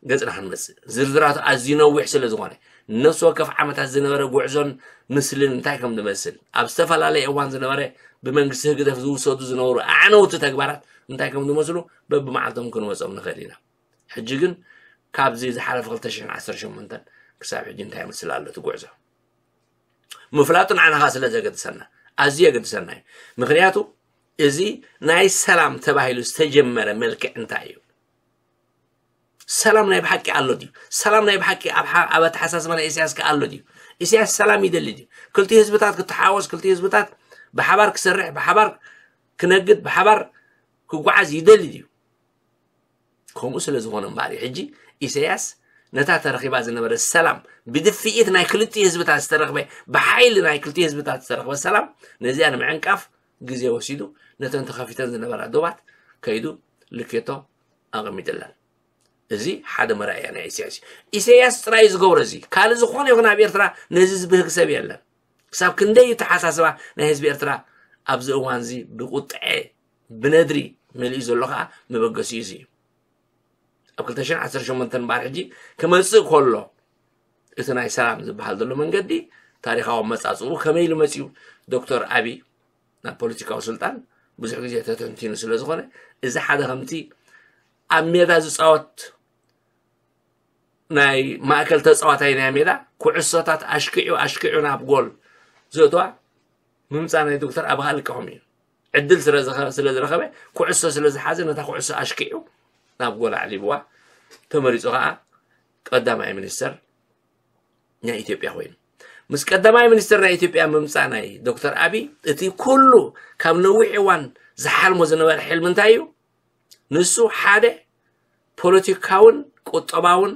ገጽና ክንመጽእ ዝርዝራቱ ኣዝዩ ነዊሕ ስለ ዝኾነ ነፍሲ ወከፍ ዓመታት ዝነበረ ጉዕዞን ምስልን እንታይ ከም ዝመስል ኣብ ዝተፈላለየ እዋን ዝነበረ ብመንግስቲ ህግደፍ ዝውሰዱ ዝነበሩ ኣዕነውቲ ተግባራት እንታይ ከም ዝመስሉ በብመዓልቶም ክንወጾም ንኽእል ኢና። ሕጂ ግን ካብዚ ዝሓለፈ ክልተ ሽሕን ዓሰርተ ሸሞንተን ክሳብ ሕጂ እንታይ ይመስል ኣሎ እቲ ጉዕዞ? ምፍላጡ ንዓና ከዓ ስለ ዘገድሰና፣ ኣዝዩ የገድሰና እዩ። ምኽንያቱ እዚ ናይ ሰላም ተባሂሉ ዝተጀመረ መልክዕ እንታይ እዩ? ሰላም ናይ ብሓቂ ኣሎ ድዩ? ሰላም ናይ ብሓቂ ኣብ ሓ- ኣብ ኣተሓሳስባ ናይ ኢሳያስ ከ ኣሎ ድዩ? ኢሳያስ ሰላም ይደሊ ድዩ? ክልቲኡ ህዝብታት ክተሓወስ፣ ክልቲኡ ህዝብታት ብሓባር ክሰርሕ፣ ብሓባር ክነግድ፣ ብሓባር ክጓዓዝ ይደሊ ድዩ? ከምኡ ስለ ዝኾነ እምበኣር እዩ ሕጂ ኢሳያስ ነታ ተረኺባ ዝነበረ ሰላም፣ ብድፍኢት ናይ ክልቲኡ ህዝብታት ዝተረኽበ፣ ብሓይሊ ናይ ክልቲኡ ህዝብታት ዝተረኽበ ሰላም፣ ነዚኣ ንምዕንቃፍ ግዜ ወሲዱ ነተን ተኸፊተን ዝነበራ ዶባት ከይዱ ልኬቶ ኣቐሚጥለን። እዚ ሓደ መርኣያ ናይ ኢሳያስ እዩ። ኢሳያስ ጥራይ እዩ ዝገብሮ እዚ። ካልእ ዝኾነ ይኹን ኣብ ኤርትራ ነዚ ዝብህግ ሰብ የለን። ክሳብ ክንደይ እዩ ተሓሳስባ ናይ ህዝቢ ኤርትራ ኣብዚ እዋን እዚ ብቁጥዐ ብነድሪ መሊኡ ዘሎ ከዓ መበገሲኡ እዚ እዩ። ኣብ ክልተ ሽሕን ዓሰርተ ሸሞንተን እምበኣር ሕጂ ክመጽእ ከሎ እቲ ናይ ሰላም ዝበሃል ዘሎ መንገዲ ታሪኻዊ ኣመጻጽኡ ከመይ ኢሉ መጺኡ? ዶክተር ኣቢ ናብ ፖለቲካዊ ስልጣን ብዙሕ ግዜ ተተንቲኑ ስለ ዝኾነ፣ እዚ ሓደ ከምቲ ኣብ ሜዳ ዝጻወት ናይ ማእከል ተጻዋታይ ናይ ሜዳ ኩዕሶታት ኣሽኪዑ ኣሽኪዑ ናብ ጎል ዘእትዋ ምምጻእ ናይ ዶክተር ኣቢ ከዓ ልክዖም እዩ። ዕድል ስለ ዝኸ- ስለ ዝረኸበ፣ ኩዕሶ ስለ ዝሓዘ፣ ነታ ኩዕሶ ኣሽኪዑ ናብ ጎል ኣዕሊብዋ። ተመሪጹ ከዓ ቀዳማይ ሚኒስተር ናይ ኢትዮጵያ ኮይኑ። ምስ ቀዳማይ ሚኒስተር ናይ ኢትዮጵያ ምምጻእ ናይ ዶክተር ኣቢ፣ እቲ ኩሉ ካብ ነዊሕ እዋን ዝሓልሞ ዝነበረ ሕልሚ እንታይ እዩ? ንሱ ሓደ ፖለቲካውን ቁጠባውን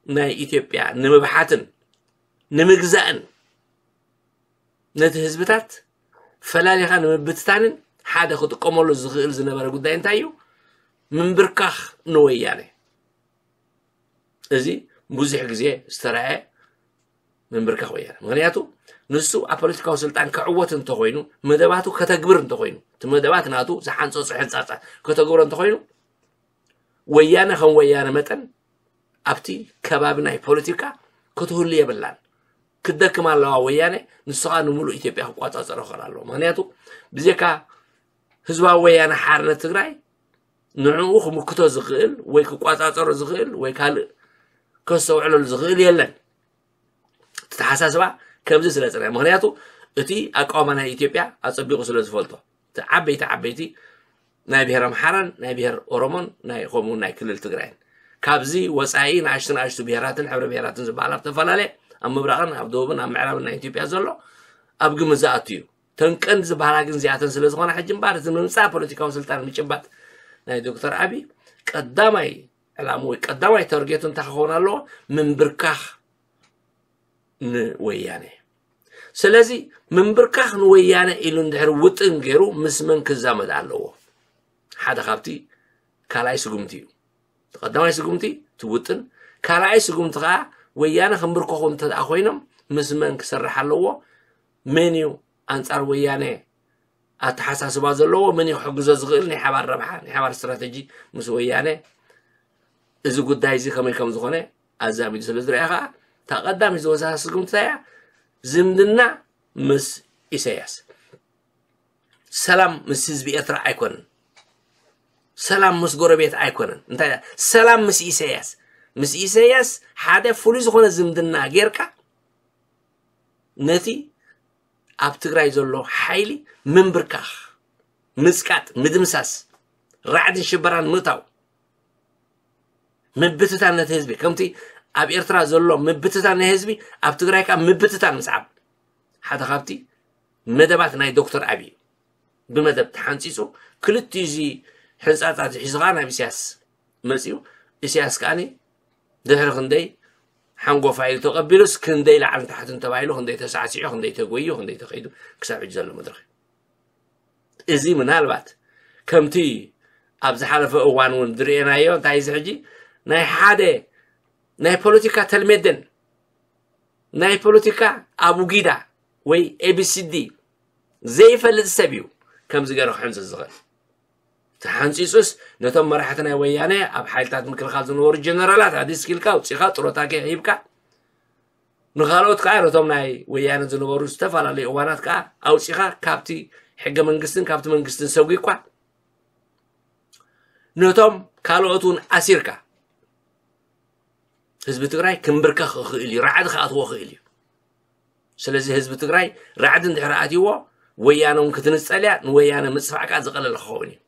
ናይ ኢትዮጵያ ንምብሓትን ንምግዛእን ነቲ ህዝብታት ፈላሊኻ ንምብትታንን ሓደ ክጥቀመሉ ዝኽእል ዝነበረ ጉዳይ እንታይ እዩ? ምንብርካኽ ንወያነ። እዚ ብዙሕ ግዜ ዝተረኣየ ምንብርካኽ ወያነ። ምኽንያቱ ንሱ ኣብ ፖለቲካዊ ስልጣን ክዕወት እንተኾይኑ፣ መደባቱ ከተግብር እንተኾይኑ፣ እቲ መደባት ናቱ ዝሓንጸጾ ሕንጻጻ ከተግብሮ እንተኾይኑ፣ ወያነ ከም ወያነ መጠን ኣብቲ ከባቢ ናይ ፖለቲካ ክትህሉ የብላን። ክትደክም ኣለዋ ወያነ፣ ንሱ ኸኣ ንምሉእ ኢትዮጵያ ክቋጻጸሮ ክኽእል ኣለዎ። ምኽንያቱ ብዘይካ ህዝባዊ ወያነ ሓርነት ትግራይ ንዕኡ ክምክቶ ዝኽእል ወይ ክቋጻጸሮ ዝኽእል ወይ ካልእ ከስተውዕለሉ ዝኽእል የለን። እቲ ተሓሳስባ ከምዚ ስለ ዝጸንሐ፣ ምኽንያቱ እቲ ኣቃውማ ናይ ኢትዮጵያ ኣጸቢቑ ስለ ዝፈልጦ፣ እቲ ዓበይቲ ዓበይቲ ናይ ብሄር ኣምሓራን ናይ ብሄር ኦሮሞን ናይ ከምኡ ናይ ክልል ትግራይን ካብዚ ወጻኢ ንኣሽቱ ንኣሽቱ ብሄራትን ሕብረ ብሄራትን ዝበሃላ ኣብ ተፈላለየ ኣብ ምብራቕን ኣብ ደቡብን ኣብ ምዕራብን ናይ ኢትዮጵያ ዘሎ ኣብ ግምት ዝኣቱ እዩ። ተን ቀንዲ ዝበሃላ ግን እዚኣተን ስለ ዝኾና ሕጂ እምበኣር እቲ ምምጻእ ፖለቲካዊ ስልጣን ምጭባጥ ናይ ዶክተር ኣቢ ቀዳማይ ዕላሙ ወይ ቀዳማይ ታርጌቱ እንታይ ክኸውን ኣለዎ? ምንብርካኽ ንወያነ። ስለዚ ምንብርካኽ ንወያነ ኢሉ እንድሕር ውጥን ገይሩ ምስ መን ክዛመድ ኣለዎ? ሓደ ካብቲ ካልኣይ ስጉምቲ እዩ። እቲ ቀዳማይ ስጉምቲ እቲ ውጥን፣ ካልኣይ ስጉምቲ ከዓ ወያነ ክንብርከኹ እንተ ደኣ ኮይኖም ምስ መን ክሰርሕ ኣለዎ? መን እዩ ኣንጻር ወያነ ኣተሓሳስባ ዘለዎ? መን እዩ ክሕግዞ ዝኽእል? ናይ ሓባር ረብሓ፣ ናይ ሓባር ስትራተጂ ምስ ወያነ እዚ ጉዳይ እዚ ከመይ ከም ዝኾነ ኣዛሚዱ ስለ ዝረኣ ከዓ እታ ቀዳመይቲ ዝወሰዳ ስጉምቲ እንታይ እያ? ዝምድና ምስ ኢሳያስ። ሰላም ምስ ህዝቢ ኤርትራ ኣይኮነን። ሰላም ምስ ጎረቤት ኣይኮነን። እንታይ እያ? ሰላም ምስ ኢሳያስ። ምስ ኢሳያስ ሓደ ፍሉይ ዝኾነ ዝምድና ጌርካ ነቲ ኣብ ትግራይ ዘሎ ሓይሊ ምንብርካኽ፣ ምጽቃጥ፣ ምድምሳስ፣ ራዕድን ሽበራን ምእታው፣ ምብትታን ነቲ ህዝቢ፣ ከምቲ ኣብ ኤርትራ ዘሎ ምብትታን ናይ ህዝቢ ኣብ ትግራይ ከዓ ምብትታን ምስዓብ ሓደ ካብቲ መደባት ናይ ዶክተር ኣብይ እዩ። ብመደብ ተሓንፂፁ ክልቲኡ እዚ ሕንፃፃት ሒዙ ከዓ ናብ ኢሳያስ መፂኡ። ኢሳያስ ከዓኒ ድሕሪ ክንደይ ሓንጎፋ ኢሉ ተቐቢሉስ ክንደይ ላዕልን ታሕትን ተባሂሉ ክንደይ ተሳዕሲዑ ክንደይ ተጎዩ ክንደይ ተኸይዱ ክሳብ ሕጂ ዘሎ መድረኽ እዩ። እዚ ምናልባት ከምቲ ኣብ ዝሓለፈ እዋን እውን ዝርኤናዮ እንታይ እዚ ሕጂ ናይ ሓደ ናይ ፖለቲካ ተልሜደን ናይ ፖለቲካ ኣቡጊዳ ወይ ኤቢሲዲ ዘይፈልጥ ሰብ እዩ ከምዚ ገይሩ ክሕንፅፅ ዝኽእል። ተሓንፂፁስ ነቶም መራሕቲ ናይ ወያነ ኣብ ሓይልታት ምክልኻል ዝነበሩ ጀነራላት ኣዲስኪልካ ኣውፂኻ ጥሮታ ሂብካ ንኻልኦት ከዓ ነቶም ናይ ወያነ ዝነበሩ ዝተፈላለዩ እዋናት ከዓ ኣውፂኻ ካብቲ ሕገ መንግስትን ካብቲ መንግስትን ሰጒግካ ነቶም ካልኦት እውን ኣሲርካ ህዝቢ ትግራይ ክምብርከኽ ይኽእል እዩ፣ ራዕዲ ክኣትዎ ይኽእል እዩ። ስለዚ ህዝቢ ትግራይ ራዕዲ እንድሕር ኣትይዎ፣ ወያነ እውን ክትንጸል እያ፣ ንወያነ ምጽፋዕካ ዝቐለለ ክኸውን እዩ።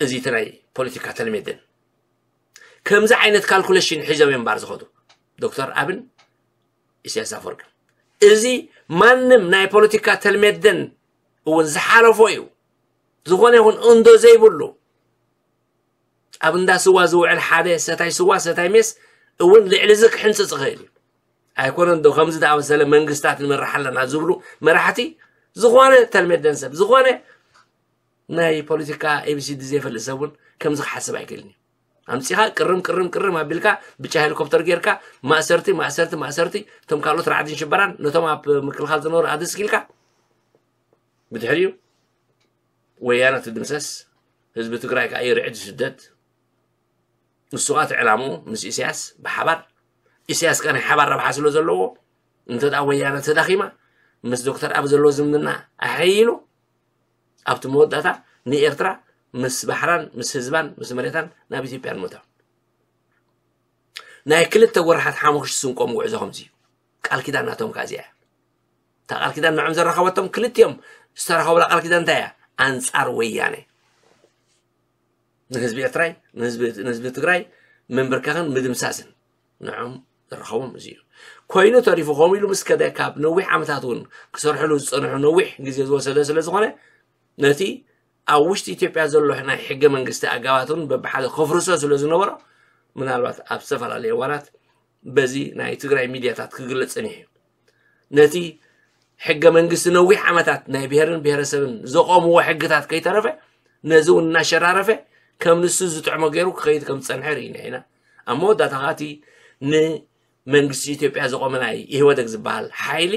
እዚ እቲ ናይ ፖለቲካ ተልሜደን። ከምዚ ዓይነት ካልኩሌሽን ሒዞም እዮም እምበር ዝኸዱ ዶክተር ኣብን ኢሳያስ ኣፈወርቅን። እዚ ማንም ናይ ፖለቲካ ተልሜደን እውን ዝሓለፎ እዩ። ዝኾነ ይኹን እንዶ ዘይብሉ ኣብ እንዳ ስዋ ዝውዕል ሓደ ሰታይ ስዋ ሰታይ ሜስ እውን ልዕሊ እዚ ክሕንፅፅ ይኽእል እዩ። ኣይኮነን ዶ ከምዚ ዝኣመሰለ መንግስታት ንመርሕ ኣለና ዝብሉ መራሕቲ ዝኾነ ተልሜደን ሰብ ዝኾነ ናይ ፖለቲካ ኤቢሲዲ ዘይፈልጥ ሰብ እውን ከምዚ ክሓስብ ኣይክእልን እዩ። ኣምፂኻ ቅርም ቅርም ቅርም ኣቢልካ ብጫ ሄሊኮፕተር ጌርካ ማእሰርቲ ማእሰርቲ ማእሰርቲ እቶም ካልኦት ራዕድን ሽበራን ነቶም ኣብ ምክልኻል ዝነበሩ ኣድስኪልካ ብድሕሪኡ ወያነ ትድምሰስ፣ ህዝቢ ትግራይ ከዓ ይርዕድ ይስደድ። ንሱ ከዓ እቲ ዕላምኡ ምስ ኢሳያስ ብሓባር፣ ኢሳያስ ከዓ ናይ ሓባር ረብሓ ስለ ዘለዎ እንተ ደኣ ወያነ ተዳኺማ ምስ ዶክተር ኣብ ዘለዎ ዝምድና ኣሐይሉ ኣብቲ መወዳእታ ንኤርትራ ምስ ባሕራን ምስ ህዝባን ምስ መሬታን ናብ ኢትዮጵያ ንምእታው ናይ ክልተ ወርሓት ሓሙኽሽ ስንቆም ጉዕዞ ከምዚ እዩ። ቃል ኪዳን ናቶም ከዓ እዚኣ እያ። እታ ቃል ኪዳን ንዕም ዘራኸበቶም ክልቲኦም ዝተራኸቡላ ቃል ኪዳን እንታይ እያ? ኣንጻር ወያነ ንህዝቢ ኤርትራይ ንህዝቢ ትግራይ ምንብርከኽን ምድምሳስን ንዕም ዝረኸቦም እዚ እዩ። ኮይኑ ተሪፉ ከምኡ ኢሉ ምስ ከደ ካብ ነዊሕ ዓመታት እውን ክሰርሕሉ ዝፀንሑ ነዊሕ ግዜ ዝወሰደ ስለ ዝኾነ ነቲ ኣብ ውሽጢ ኢትዮጵያ ዘሎ ናይ ሕገ መንግስቲ ኣጋባት እውን በብሓደ ከፍርሶ ስለ ዝነበሮ ምናልባት ኣብ ዝተፈላለዩ እዋናት በዚ ናይ ትግራይ ሚድያታት ክግለፅ ፀኒሑ እዩ። ነቲ ሕገ መንግስቲ ነዊሕ ዓመታት ናይ ብሄርን ብሄረሰብን ዘቆምዎ ሕግታት ከይተረፈ ነዚ እውን እናሸራረፈ ከም ንሱ ዝጥዕሞ ገይሩ ክኸይድ ከም ዝፀንሐ ርኢና ኢና። ኣብ መወዳእታ ከዓ እቲ ንመንግስቲ ኢትዮጵያ ዘቆመ ናይ ኢህወደግ ዝበሃል ሓይሊ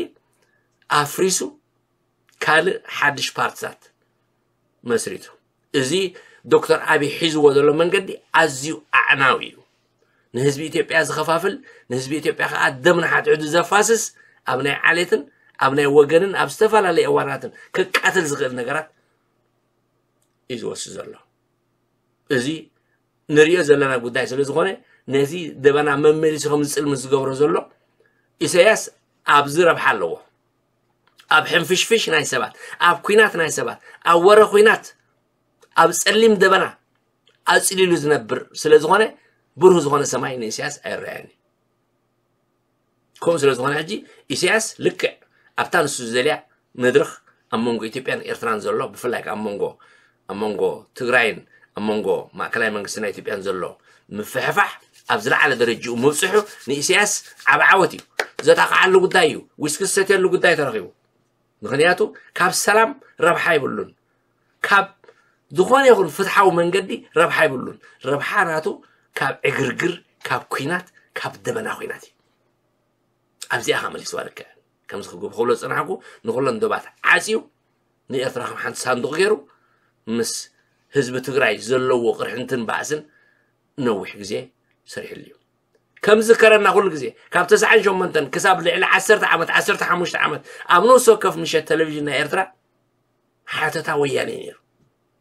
ኣፍሪሱ ካልእ ሓድሽ ፓርትታት መስሪቱ። እዚ ዶክተር ኣብይ ሒዝዎ ዘሎ መንገዲ ኣዝዩ ኣዕናዊ እዩ። ንህዝቢ ኢትዮጵያ ዝኸፋፍል፣ ንህዝቢ ኢትዮጵያ ከዓ ደም ንሓድሕዱ ዘፋስስ፣ ኣብ ናይ ዓሌትን ኣብ ናይ ወገንን ኣብ ዝተፈላለዩ እዋናትን ከቃትል ዝኽእል ነገራት እዩ ዝወስድ ዘሎ። እዚ ንሪኦ ዘለና ጉዳይ ስለ ዝኾነ ነዚ ደበና መመሊሱ ከም ዝፅልምት ዝገብሮ ዘሎ ኢሳያስ ኣብዚ ረብሓ ኣለዎ። ኣብ ሕንፍሽፍሽ ናይ ሰባት፣ ኣብ ኲናት ናይ ሰባት፣ ኣብ ወረ ኲናት፣ ኣብ ፀሊም ደበና ኣፅሊሉ ዝነብር ስለ ዝኾነ ብሩህ ዝኾነ ሰማይ ንኢሳያስ ኣይረኣየኒ። ከምኡ ስለ ዝኾነ ሕጂ ኢሳያስ ልክዕ ኣብታ ንሱ ዝደልያ መድረኽ ኣብ መንጎ ኢትዮጵያን ኤርትራን ዘሎ ብፍላይ ኣብ መንጎ ኣብ መንጎ ትግራይን ኣብ መንጎ ማእከላይ መንግስቲ ናይ ኢትዮጵያን ዘሎ ምፍሕፋሕ ኣብ ዝለዓለ ደረጅኡ ምብፅሑ ንኢሳያስ ዓብ ዓወት እዩ። ዘጣቕዓሉ ጉዳይ እዩ። ዊስኪ ዝሰትየሉ ጉዳይ ተረኺቡ። ምኽንያቱ ካብ ሰላም ረብሓ ይብሉን፣ ካብ ዝኾነ ይኹን ፍትሓዊ መንገዲ ረብሓ ይብሉን። ረብሓ ናቱ ካብ ዕግርግር፣ ካብ ኲናት፣ ካብ ደበና ኲናት እዩ። ኣብዚኣ ከመሊስዋ ልክዕ ከምዚ ክብሎ ዝፅናሕኩ ንኩለን ዶባት ዓፅዩ ንኤርትራ ከም ሓንቲ ሳንዱቕ ገይሩ ምስ ህዝቢ ትግራይ ዘለዎ ቅርሕንትን ባእስን ነዊሕ ግዜ ሰሪሕሉ እዩ። ከም ዝከረና ኩሉ ግዜ ካብ ተስዓን ሸሞንተን ክሳብ ልዕሊ ዓሰርተ ዓመት ዓሰርተ ሓሙሽተ ዓመት ኣብ ነፍሲ ወከፍ ምሸት ቴሌቪዥን ናይ ኤርትራ ሓተታ ወያነ እዩ ነይሩ።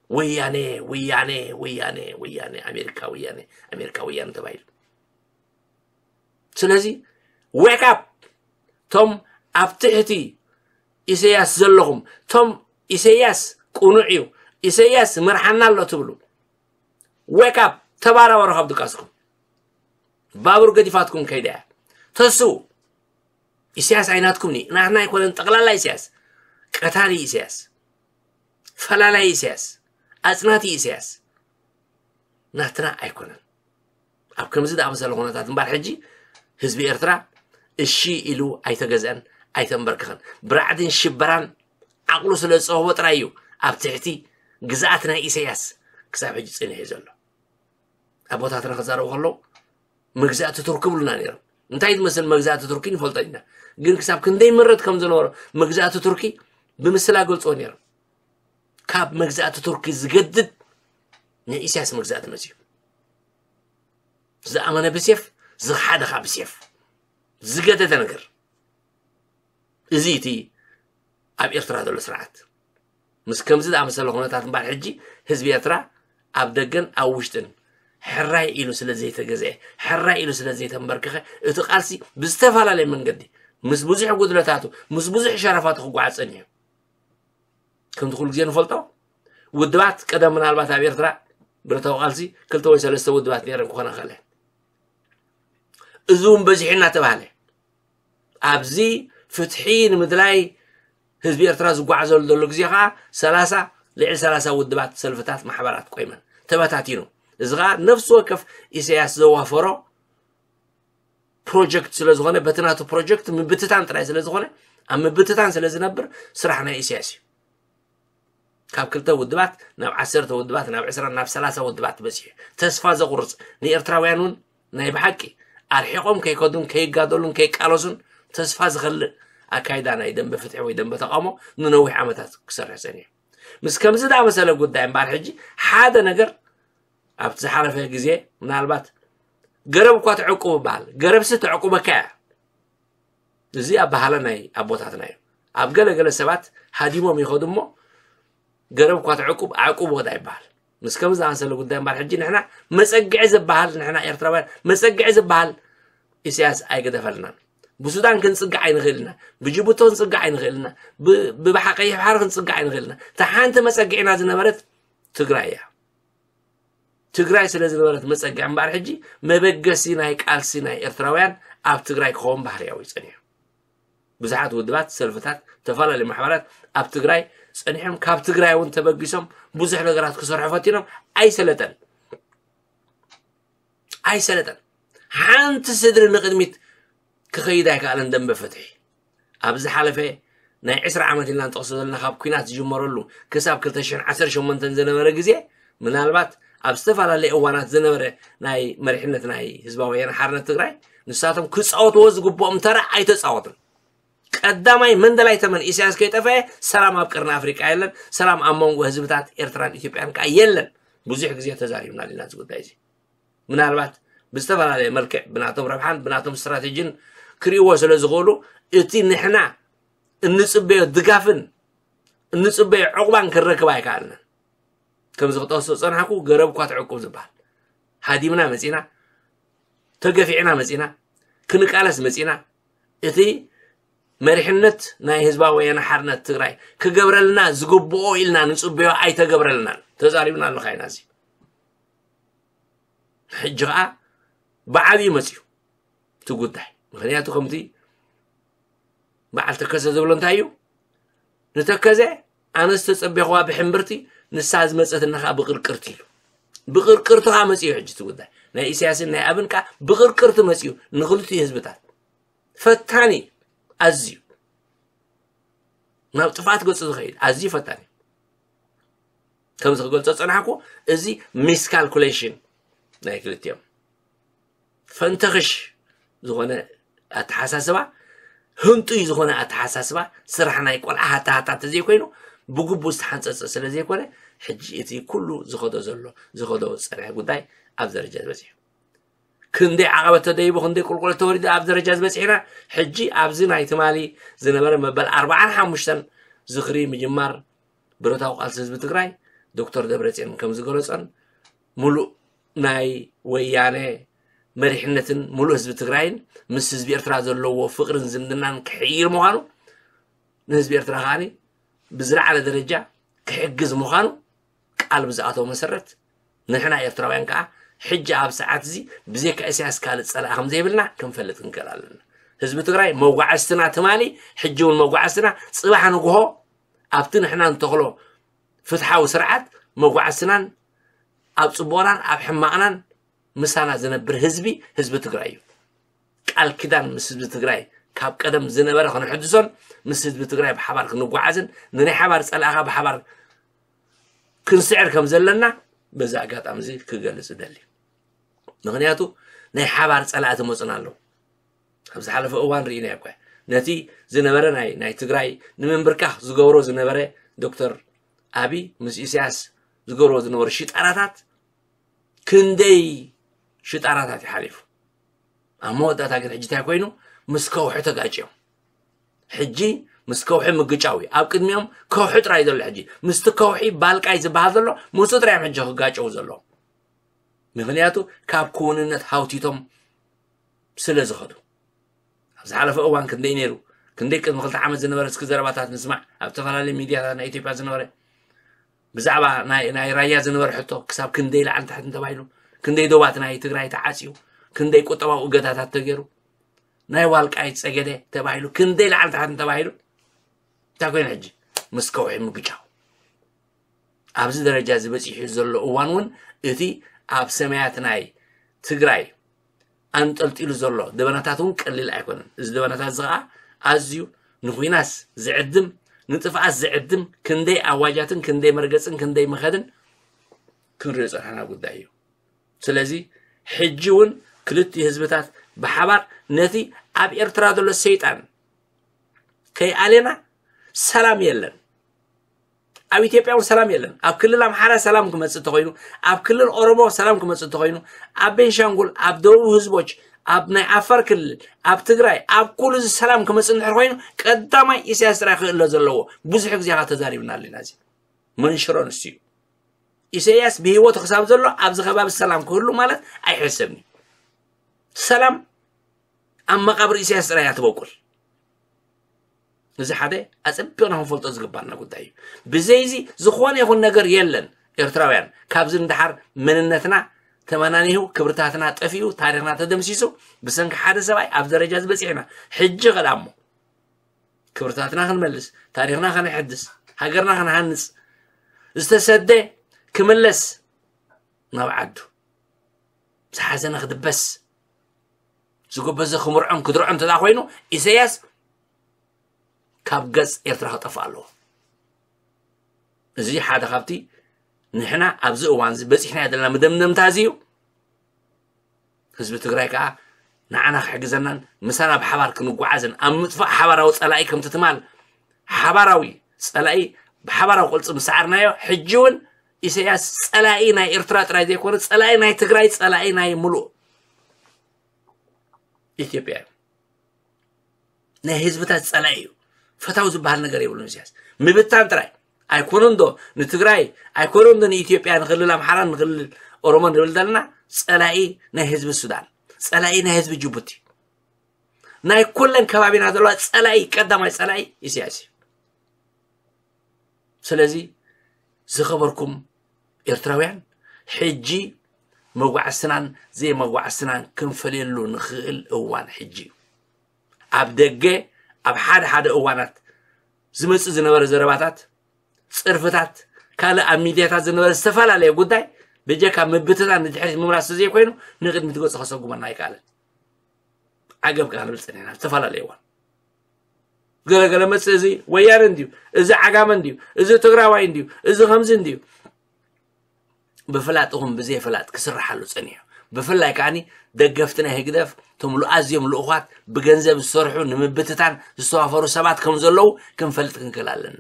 ወያነ ወያነ ወያነ ወያነ ኣሜሪካ ወያነ ኣሜሪካ ወያነ ተባሂሉ። ስለዚ ዌክ ኣፕ ቶም ኣብ ትሕቲ ኢሰያስ ዘለኹም ቶም ኢሰያስ ቅኑዕ እዩ ኢሰያስ መርሓና ኣሎ ትብሉ ዌክ ኣፕ ተባራበሩ ካብ ድቃስኩም። ባቡር ገዲፋትኩም ከይዳ እያ። ተስኡ ኢሳያስ ኣይናትኩም ኒ ናትና ኣይኮነን ጠቕላላ ኢሳያስ ቀታሊ ኢሳያስ ፈላላይ ኢሳያስ ኣጽናቲ ኢሳያስ ናትና ኣይኮነን። ኣብ ከምዚ ዝኣመሰለ ኩነታት እምበር ሕጂ ህዝቢ ኤርትራ እሺ ኢሉ ኣይተገዝአን ኣይተንበርክኸን። ብራዕድን ሽበራን ዓቕሉ ስለ ዝጸበቦ ጥራይ እዩ ኣብ ትሕቲ ግዝኣት ናይ ኢሳያስ ክሳብ ሕጂ ጽኒሑ ዘሎ። ኣቦታትና ክዛረቡ ከለዉ መግዛእቲ ቱርኪ ብሉና ነይሮም። እንታይ ትመስል መግዛእቲ ቱርኪ ንፈልጦ ኢና። ግን ክሳብ ክንደይ ምረት ከም ዝነበሮ መግዛእቲ ቱርኪ ብምስላ ገልፅዎ ነይሮም። ካብ መግዛእቲ ቱርኪ ዝገድድ ናይ ኢሳያስ መግዛእቲ መፅዩ። ዝኣመነ ብሴፍ ዝኸሓደ ከዓ ብሴፍ ዝገደደ ነገር እዚ እቲ ኣብ ኤርትራ ዘሎ ስርዓት ምስ ከምዚ ዝኣመሰለ ኩነታት እምበር ሕጂ ህዝቢ ኤርትራ ኣብ ደገን ኣብ ውሽጥን ሕራይ ኢሉ ስለ ዘይተገዝአ፣ ሕራይ ኢሉ ስለ ዘይተንበርክኸ፣ እቲ ቃልሲ ብዝተፈላለየ መንገዲ ምስ ብዙሕ ጉድለታቱ፣ ምስ ብዙሕ ሸረፋቱ ክጓዓዝ ጸኒሑ። ከምቲ ኩሉ ግዜ ንፈልጦ፣ ውድባት ቀደም ምናልባት ኣብ ኤርትራ ብረታዊ ቃልሲ ክልተ ወይ ሰለስተ ውድባት ነይረን ክኾና ይኽእላ። እዚ እውን በዚሑ እናተባህለ፣ ኣብዚ ፍትሒ ንምድላይ ህዝቢ ኤርትራ ዝጓዓዘሉ ዘሎ ግዜ ከዓ ሰላሳ፣ ልዕሊ ሰላሳ ውድባት፣ ሰልፍታት፣ ማሕበራት ቆይመን፣ ተበታቲኑ። እዚ ከዓ ነፍሲ ወከፍ ኢሳያስ ዘዋፈሮ ፕሮጀክት ስለ ዝኾነ፣ በቲ ናቱ ፕሮጀክት ምብትታን ጥራይ ስለ ዝኾነ፣ ኣብ ምብትታን ስለ ዝነብር፣ ስራሕ ናይ ኢሳያስ እዩ። ካብ ክልተ ውድባት ናብ ዓሰርተ ውድባት፣ ናብ ዕስራ፣ ናብ ሰላሳ ውድባት በጺሑ። ተስፋ ዘቑርጽ፣ ንኤርትራውያን እውን ናይ ብሓቂ ኣርሒቖም ከይከዱን ከይጋደሉን ከይቃለሱን ተስፋ ዝኸልእ ኣካይዳ ናይ ደንበ ፍትሒ ወይ ደንበ ተቃውሞ ንነዊሕ ዓመታት ክሰርሕ ጸኒሑ። ምስ ከምዚ ዝኣመሰለ ጉዳይ እምበኣር፣ ሕጂ ሓደ ነገር ኣብቲ ዝሓለፈ ግዜ ምናልባት ገረብ እኳ ተዕቁብ ይበሃል፣ ገረብሲ ተዕቁበካ እያ። እዚ ኣበሃህላ ናይ ኣቦታትና እዩ። ኣብ ገለ ገለ ሰባት ሃዲሞም ይኸዱ እሞ፣ ገረብ እኳ ተዕቁብ፣ ኣዕቁብ ወዳ ይበሃል። ምስ ከምዚ ዝኣመሰለ ጉዳይ እምበኣር፣ ሕጂ ንሕና መጸግዒ ዝበሃል፣ ንሕና ኤርትራውያን መጸግዒ ዝበሃል ኢሳያስ ኣይገደፈልናን። ብሱዳን ክንጽጋዕ ኣይንኽእል ኢና፣ ብጅቡቲ ክንጽጋዕ ኣይንኽእል ኢና፣ ብ-፣ ብባሕሪ ቀይሕ ባሕሪ ክንጽጋዕ ኣይንኽእል ኢና። እታ ሓንቲ መጸግዒና ዝነበረት ትግራይ እያ። ትግራይ ስለ ዝነበረት መጸግዒ እምበኣር፣ ሕጂ መበገሲ ናይ ቃልሲ ናይ ኤርትራውያን ኣብ ትግራይ ክኸውን ባህርያዊ እዩ ጸኒሑ። ብዙሓት ውድባት፣ ሰልፍታት፣ ዝተፈላለዩ ማሕበራት ኣብ ትግራይ ጸኒሖም፣ ካብ ትግራይ እውን ተበጊሶም ብዙሕ ነገራት ክሰርሑ ፈቲኖም። ኣይሰለጠን፣ ኣይሰለጠን። ሓንቲ ስድሪ ንቕድሚት ክኸይድ ኣይከኣለን ደንበ ፍትሒ። ኣብ ዝሓለፈ ናይ ዕስራ ዓመት ኢልና ንጠቕሶ ዘለና፣ ካብ ኲናት ዝጅመረሉ ክሳብ ክልተ ሽሕን ዓሰርተ ሸሞንተን ዝነበረ ግዜ፣ ምናልባት ኣብ ዝተፈላለየ እዋናት ዝነበረ ናይ መሪሕነት ናይ ህዝባዊ ወያነ ሓርነት ትግራይ፣ ንሳቶም ክጻወትዎ ዝግብኦም ተራ ኣይተጻወቱን። ቀዳማይ መንደላይ ተመን ኢሳያስ ከይጠፈአ፣ ሰላም ኣብ ቀርኒ ኣፍሪቃ የለን፣ ሰላም ኣብ መንጎ ህዝብታት ኤርትራን ኢትዮጵያን ከኣ የለን። ብዙሕ ግዜ ተዛሪብናሉ ኢና እዚ ጉዳይ እዚ። ምናልባት ብዝተፈላለየ መልክዕ ብናቶም ረብሓን ብናቶም ስትራቴጂን ክርእይዎ ስለ ዝኽእሉ፣ እቲ ንሕና እንጽበዮ ድጋፍን እንጽበዮ ዕቑባን ክንረክብ ኣይከኣልናን። ከምዚ ክጠቕሶ ዝጸናሕኩ፣ ገረብ እኳ ትዕቁብ ዝበሃል። ሃዲምና መጺና፣ ተገፊዕና መጺና፣ ክንቃለስ መጺና፣ እቲ መሪሕነት ናይ ህዝባዊ ወያነ ሓርነት ትግራይ ክገብረልና ዝግብኦ ኢልና ንጽበዮ ኣይተገብረልናን። ተዛሪብና ኣለኻ ኢና እዚ። ሕጂ ኸኣ ብዓብዩ መጽዩ እቲ ጉዳይ። ምኽንያቱ ከምቲ በዓል ተከዘ ዝብሎ እንታይ እዩ? ንተከዘ ኣነ ዝተጸበኽዋ ብሕምብርቲ፣ ንሳ ዝመጸትና ኸኣ ብቕርቅርቲ ኢሉ። ብቕርቅርቲ ኸኣ መጽዩ ሕጂ እቲ ጉዳይ። ናይ ኢሳያስን ናይ ኣብን ከኣ ብቕርቅርቲ መጽዩ ንኽልቲኡ ህዝብታት። ፈታኒ ኣዝዩ። ናብ ጥፍኣት ገጹ ዝኸይድ ኣዝዩ ፈታኒ። ከምዚ ክገልጾ ዝጸናሕኩ፣ እዚ ሚስካልኩሌሽን ናይ ክልቲኦም። ፈንተኽሽ ዝኾነ ኣተሓሳስባ፣ ህንጡይ ዝኾነ ኣተሓሳስባ፣ ስራሕ ናይ ቆልዓ ሃታ ሃታ እንተዘይኮይኑ፣ ብግቡእ ዝተሓንጸጸ ስለ ዘይኮነ፣ ሕጂ እቲ ኩሉ ዝኸዶ ዘሎ፣ ዝኸዶ ዝጸንሐ ጉዳይ ኣብ ደረጃ ዝበጽሕ እዩ። ክንደይ ዓቐበት ተደይቡ፣ ክንደይ ቁልቁለት ተወሪዱ ኣብ ደረጃ ዝበጽሕ ኢና። ሕጂ ኣብዚ ናይ ትማሊ ዝነበረ መበል ኣርባዓን ሓሙሽተን ዝኽሪ ምጅማር ብረታዊ ቃልሲ ህዝቢ ትግራይ፣ ዶክተር ደብረጽዮን ከም ዝገለጾን፣ ሙሉእ ናይ ወያነ መሪሕነትን ሙሉእ ህዝቢ ትግራይን ምስ ህዝቢ ኤርትራ ዘለዎ ፍቕርን ዝምድናን ክሕይል ምዃኑ፣ ንህዝቢ ኤርትራ ከኣ ብዝለዓለ ደረጃ ክሕግዝ ምዃኑ ቃል ብዝኣተወ መሰረት፣ ንሕና ኤርትራውያን ከኣ ሕጂ ኣብ ሰዓት እዚ ብዘይካ ኢሳያስ ካልእ ጸላኢ ከም ዘይብልና ክንፈልጥ ክንክእል ኣለና። ህዝቢ ትግራይ መጓዕዝትና ትማሊ፣ ሕጂ እውን መጓዕዝትና፣ ጽባሕ ንግሆ ኣብቲ ንሕና ንተኽሎ ፍትሓዊ ስርዓት መጓዕዝትናን ኣብ ጽቡቕናን ኣብ ሕማቕናን ምሳና ዝነብር ህዝቢ፣ ህዝቢ ትግራይ እዩ። ቃል ኪዳን ምስ ህዝቢ ትግራይ ካብ ቀደም ዝነበረ ክንሕድሶን ምስ ህዝቢ ትግራይ ብሓባር ክንጓዓዝን ንናይ ሓባር ጸላእኻ ብሓባር ክንስዕር ከም ዘለና በዚ ኣጋጣሚ እዚ ክገልጽ እደሊ። ምኽንያቱ ናይ ሓባር ጸላእቲ መጹና ኣለዉ። ኣብ ዝሓለፈ እዋን ርኢናዮ እኳ ነቲ ዝነበረ ናይ፣ ናይ ትግራይ ንምንብርካኽ ዝገብሮ ዝነበረ ዶክተር ኣቢ ምስ ኢሳያስ ዝገብሮ ዝነበሩ ሽጣራታት ክንደይ ሽጣራታት እዩ ሓሊፉ። ኣብ መወዳእታ ግን ሕጂ እንታይ ኮይኑ? ምስ ከውሒ ተጋጭዮም። ሕጂ ምስ ከውሒ ምግጫው እዩ ኣብ ቅድሚኦም። ከውሒ ጥራይ ዘሎ ሕጂ ምስቲ ከውሒ ባልቃይ ዝበሃል ዘሎ ምስኡ ጥራይ እዮም ሕጂ ክጋጨው ዘለዎም። ምክንያቱ ካብ ክውንነት ሃውቲቶም ስለ ዝኸዱ። ኣብ ዝሓለፈ እዋን ክንደይ ነይሩ? ክንደይ ቅድሚ ክልተ ዓመት ዝነበረ እስኪ ዘረባታት ንስማዕ። ኣብ ዝተፈላለዩ ሚድያታት ናይ ኢትዮጵያ ዝነበረ ብዛዕባ ናይ ናይ ራያ ዝነበረ ሕቶ ክሳብ ክንደይ ላዕሊ ታሕቲ እንተባሂሉ፣ ክንደይ ዶባት ናይ ትግራይ ተዓፅዩ፣ ክንደይ ቁጠባዊ እገዳታት ተገይሩ፣ ናይ ዋልቃይት ፀገደ ተባሂሉ ክንደይ ላዕሊ ታሕቲ እንተባሂሉ እንታይ ኮይኑ ሕጂ ምስ ከውሒ ምግጫው ኣብዚ ደረጃ ዝበፂሑ ዘሎ እዋን እውን እቲ ኣብ ሰማያት ናይ ትግራይ ኣንጠልጢሉ ዘሎ ደበናታት እውን ቀሊል ኣይኮነን። እዚ ደበናታት እዚ ከዓ ኣዝዩ ንኩናስ ዝዕድም ንጥፍኣት ዝዕድም ክንደይ ኣዋጃትን ክንደይ መርገፅን ክንደይ መኸድን ክንሪኦ ፀናሕና ጉዳይ እዩ። ስለዚ ሕጂ እውን ክልቲኡ ህዝብታት ብሓባር ነቲ ኣብ ኤርትራ ዘሎ ሰይጣን ከይኣሌና ሰላም የለን። ኣብ ኢትዮጵያ እውን ሰላም የለን። ኣብ ክልል ኣምሓራ ሰላም ክመፅእ እንተኮይኑ፣ ኣብ ክልል ኦሮሞ ሰላም ክመፅእ እንተኮይኑ፣ ኣብ ቤንሻንጉል፣ ኣብ ደቡብ ህዝቦች፣ ኣብ ናይ ዓፋር ክልል፣ ኣብ ትግራይ፣ ኣብ ኩሉ እዚ ሰላም ክመፅእ እንድሕር ኮይኑ ቀዳማይ ኢሳያስ ጥራይ ክእለ ዘለዎ። ብዙሕ ግዜ ከዓ ተዛሪብናሉ ኢና። እዚ መንሽሮ ንሱ እዩ። ኢሳያስ ብህይወቱ ክሳብ ዘሎ ኣብዚ ከባቢ ሰላም ክህሉ ማለት ኣይሕሰብን እዩ። ሰላም ኣብ መቃብር ኢሳያስ ጥራይ እያ ትበቁል። እዚ ሓደ ኣጸቢቕና ክንፈልጦ ዝግባና ጉዳይ እዩ። ብዘይዚ ዝኾነ ይኹን ነገር የለን። ኤርትራውያን ካብዚ ንደሓር መንነትና ተመናኒሁ፣ ክብርታትና ጠፊኡ፣ ታሪኽና ተደምሲሱ ብሰንኪ ሓደ ሰብኣይ ኣብ ደረጃ ዝበፂሕና። ሕጂ ከዳሞ ክብርታትና ክንመልስ፣ ታሪኽና ከነሐድስ፣ ሃገርና ከነሃንፅ፣ ዝተሰደ ክምለስ ናብ ዓዱ፣ ዝሓዘነ ክድበስ፣ ዝጎበዘ ክምርዖን ክድርዖን እንተ ኮይኑ ኢሳያስ ካብ ገጽ ኤርትራ ክጠፍእ ኣለዎ። እዚ ሓደ ካብቲ ንሕና ኣብዚ እዋን እዚ በጺሕናዮ ዘለና መደምደምታ እዚ እዩ። ህዝቢ ትግራይ ከዓ ንዓና ክሕግዘናን ምሳና ብሓባር ክንጓዓዝን ኣብ ምጥፋእ ሓባራዊ ጸላኢ ከምቲ ትማል ሓባራዊ ጸላኢ ብሓባራዊ ቅልፂ ምሰዓርናዮ ሕጂ እውን ኢሳያስ ጸላኢ ናይ ኤርትራ ጥራይ ዘይኮነ ጸላኢ ናይ ትግራይ ጸላኢ ናይ ሙሉእ ኢትዮጵያ እዩ። ናይ ህዝብታት ጸላኢ እዩ። ፈታው ዝበሃል ነገር የብሉን ኢሳያስ። ምብታን ጥራይ ኣይኮነን ዶ ንትግራይ ኣይኮነን ዶ ንኢትዮጵያ ንክልል ኣምሓራን ንክልል ኦሮሞን ንብል ዘለና ጸላኢ ናይ ህዝቢ ሱዳን ጸላኢ ናይ ህዝቢ ጅቡቲ ናይ ኩለን ከባቢና ዘለዋ ጸላኢ ቀዳማይ ጸላኢ ኢሳያስ እዩ። ስለዚ ዝኸበርኩም ኤርትራውያን ሕጂ መጓዕስናን ዘይመጓዕስናን ክንፈልየሉ ንኽእል እዋን ሕጂ እዩ። ኣብ ደገ ኣብ ሓደ ሓደ እዋናት ዝመጽእ ዝነበረ ዘረባታት፣ ጽርፍታት፣ ካልእ ኣብ ሚድያታት ዝነበረ ዝተፈላለየ ጉዳይ ብጀካ ምብትታን ንድሕሪት ምምላስ ዘይኮይኑ ንቕድሚት ገጹ ከሰጉመና ኣይከኣለን። ዓገብ ከዓ ንብል ጸኒሕና ዝተፈላለየ እዋን። ገለገለ መጽእ እዚ ወያነ እንድዩ፣ እዚ ዓጋመ እንድዩ፣ እዚ ትግራዋይ እንድዩ፣ እዚ ከምዚ እንድዩ። ብፍላጥ ይኹን ብዘይፍላጥ ክስርሓሉ ጸኒሑ። ብፍላይ ከዓኒ ደገፍቲ ናይ ህግደፍ እቶም ኣዝዮም ልኡኻት ብገንዘብ ዝሰርሑ ንምብትታን ዝተዋፈሩ ሰባት ከም ዘለዉ ክንፈልጥ ክንክእል ኣለና።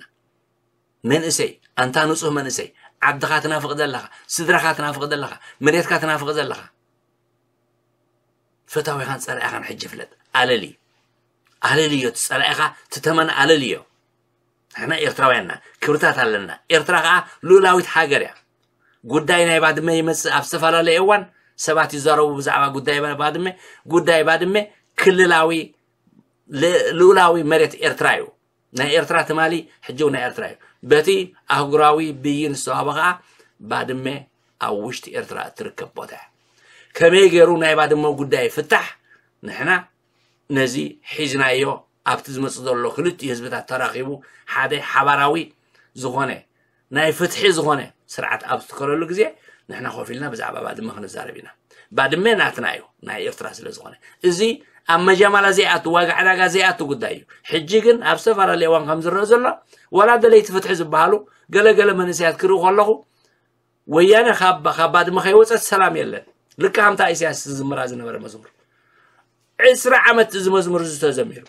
መንእሰይ ኣንታ ንጹህ መንእሰይ ዓድኻ ትናፍቕ ዘለኻ ስድራኻ ትናፍቕ ዘለኻ መሬትካ ትናፍቕ ዘለኻ ፈታዊኻን ጸላኢኻን ሕጂ ፍለጥ። ኣለሊ ኣለልዮ እቲ ጸላኢኻ ትተመን ኣለልዮ። ንሕና ኤርትራውያንና ክብርታት ኣለና። ኤርትራ ከዓ ልኡላዊት ሃገር እያ። ጉዳይ ናይ ባድመ ይመጽእ ኣብ ዝተፈላለየ እዋን ሰባት ይዛረቡ ብዛዕባ ጉዳይ ባድመ። ጉዳይ ባድመ ክልላዊ ልኡላዊ መሬት ኤርትራ እዩ። ናይ ኤርትራ ትማሊ ሕጂ እውን ናይ ኤርትራ እዩ። በቲ ኣህጉራዊ ብይን ዝተዋህበ ከዓ ባድመ ኣብ ውሽጢ ኤርትራ እትርከብ ቦታ እያ። ከመይ ገይሩ ናይ ባድመ ጉዳይ ይፍታሕ ንሕና ነዚ ሒዝናዮ ኣብቲ ዝመፅእ ዘሎ ክልቲኡ ህዝብታት ተራኺቡ ሓደ ሓባራዊ ዝኾነ ናይ ፍትሒ ዝኾነ ስርዓት ኣብ ዝትከለሉ ግዜ ንሕና ኮፍ ኢልና ብዛዕባ ባድመ ክንዛረብ ኢና። ባድመ ናትና እዩ ናይ ኤርትራ ስለ ዝኾነ። እዚ ኣብ መጃማላ ዘይኣቱ ዋጋ ዕዳጋ ዘይኣቱ ጉዳይ እዩ። ሕጂ ግን ኣብ ዝተፈላለየ እዋን ከም ዝረአ ዘሎ ዋላ ደለይቲ ፍትሒ ዝበሃሉ ገለገለ መንእሰያት ክርኢ ከለኹ ወያነ ካብ ካብ ባድመ ከይወፀት ሰላም የለን። ልክዕ ከምታ ኢሳያስ ዝዝምራ ዝነበረ መዝሙር ዕስራ ዓመት እዚ መዝሙር እዚ ተዘሚሩ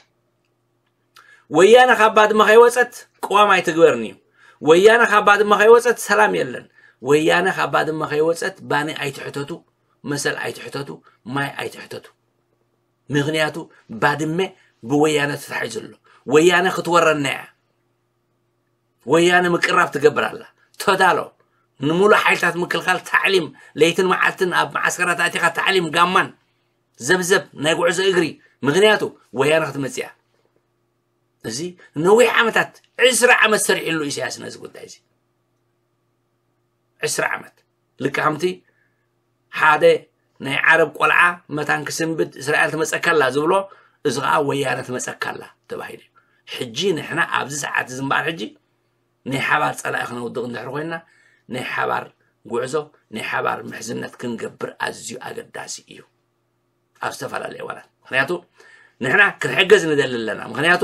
ወያነ ካብ ባድመ ከይወፀት ቅዋም ኣይትግበርን እዩ። ወያነ ካብ ባድመ ከይወፀት ሰላም የለን። ወያነ ካብ ባድመ ከይወፀት ባኒ ኣይትሕተቱ፣ መሰል ኣይትሕተቱ፣ ማይ ኣይትሕተቱ። ምክንያቱ ባድመ ብወያነ ተታሒዙ ኣሎ። ወያነ ክትወረና እያ። ወያነ ምቅራብ ትገብር ኣላ። ተዳሎ። ንምሉእ ሓይልታት ምክልኻል ታዕሊም፣ ለይትን መዓልትን ኣብ መዓስከራት ኣቲኻ ታዕሊም ጋማን ዘብዘብ ናይ ጉዕዞ እግሪ። ምኽንያቱ ወያነ ክትመጽእ እያ። እዚ ነዊሕ ዓመታት፣ ዕስራ ዓመት ሰሪሕሉ ኢሳያስ ነዚ ጉዳይ እዚ። ዕስራ ዓመት። ልክዕ ከምቲ ሓደ ናይ ዓረብ ቆልዓ መታን ክስንብድ እስራኤል ትመጸካላ ዝብሎ፣ እዚ ኸዓ ወያነ ትመጸካላ ተባሂሉ እዩ። ሕጂ ንሕና ኣብዚ ሰዓት እዚ እምበኣር ሕጂ ናይ ሓባር ጸላኢ ክነውድቕ እንድሕር ኮይንና፣ ናይ ሓባር ጉዕዞ፣ ናይ ሓባር ምሕዝነት ክንገብር ኣዝዩ ኣገዳሲ እዩ። ኣብ ዝተፈላለዩ እዋናት። ምኽንያቱ ንሕና ክንሕገዝ ንደሊ ኣለና። ምኽንያቱ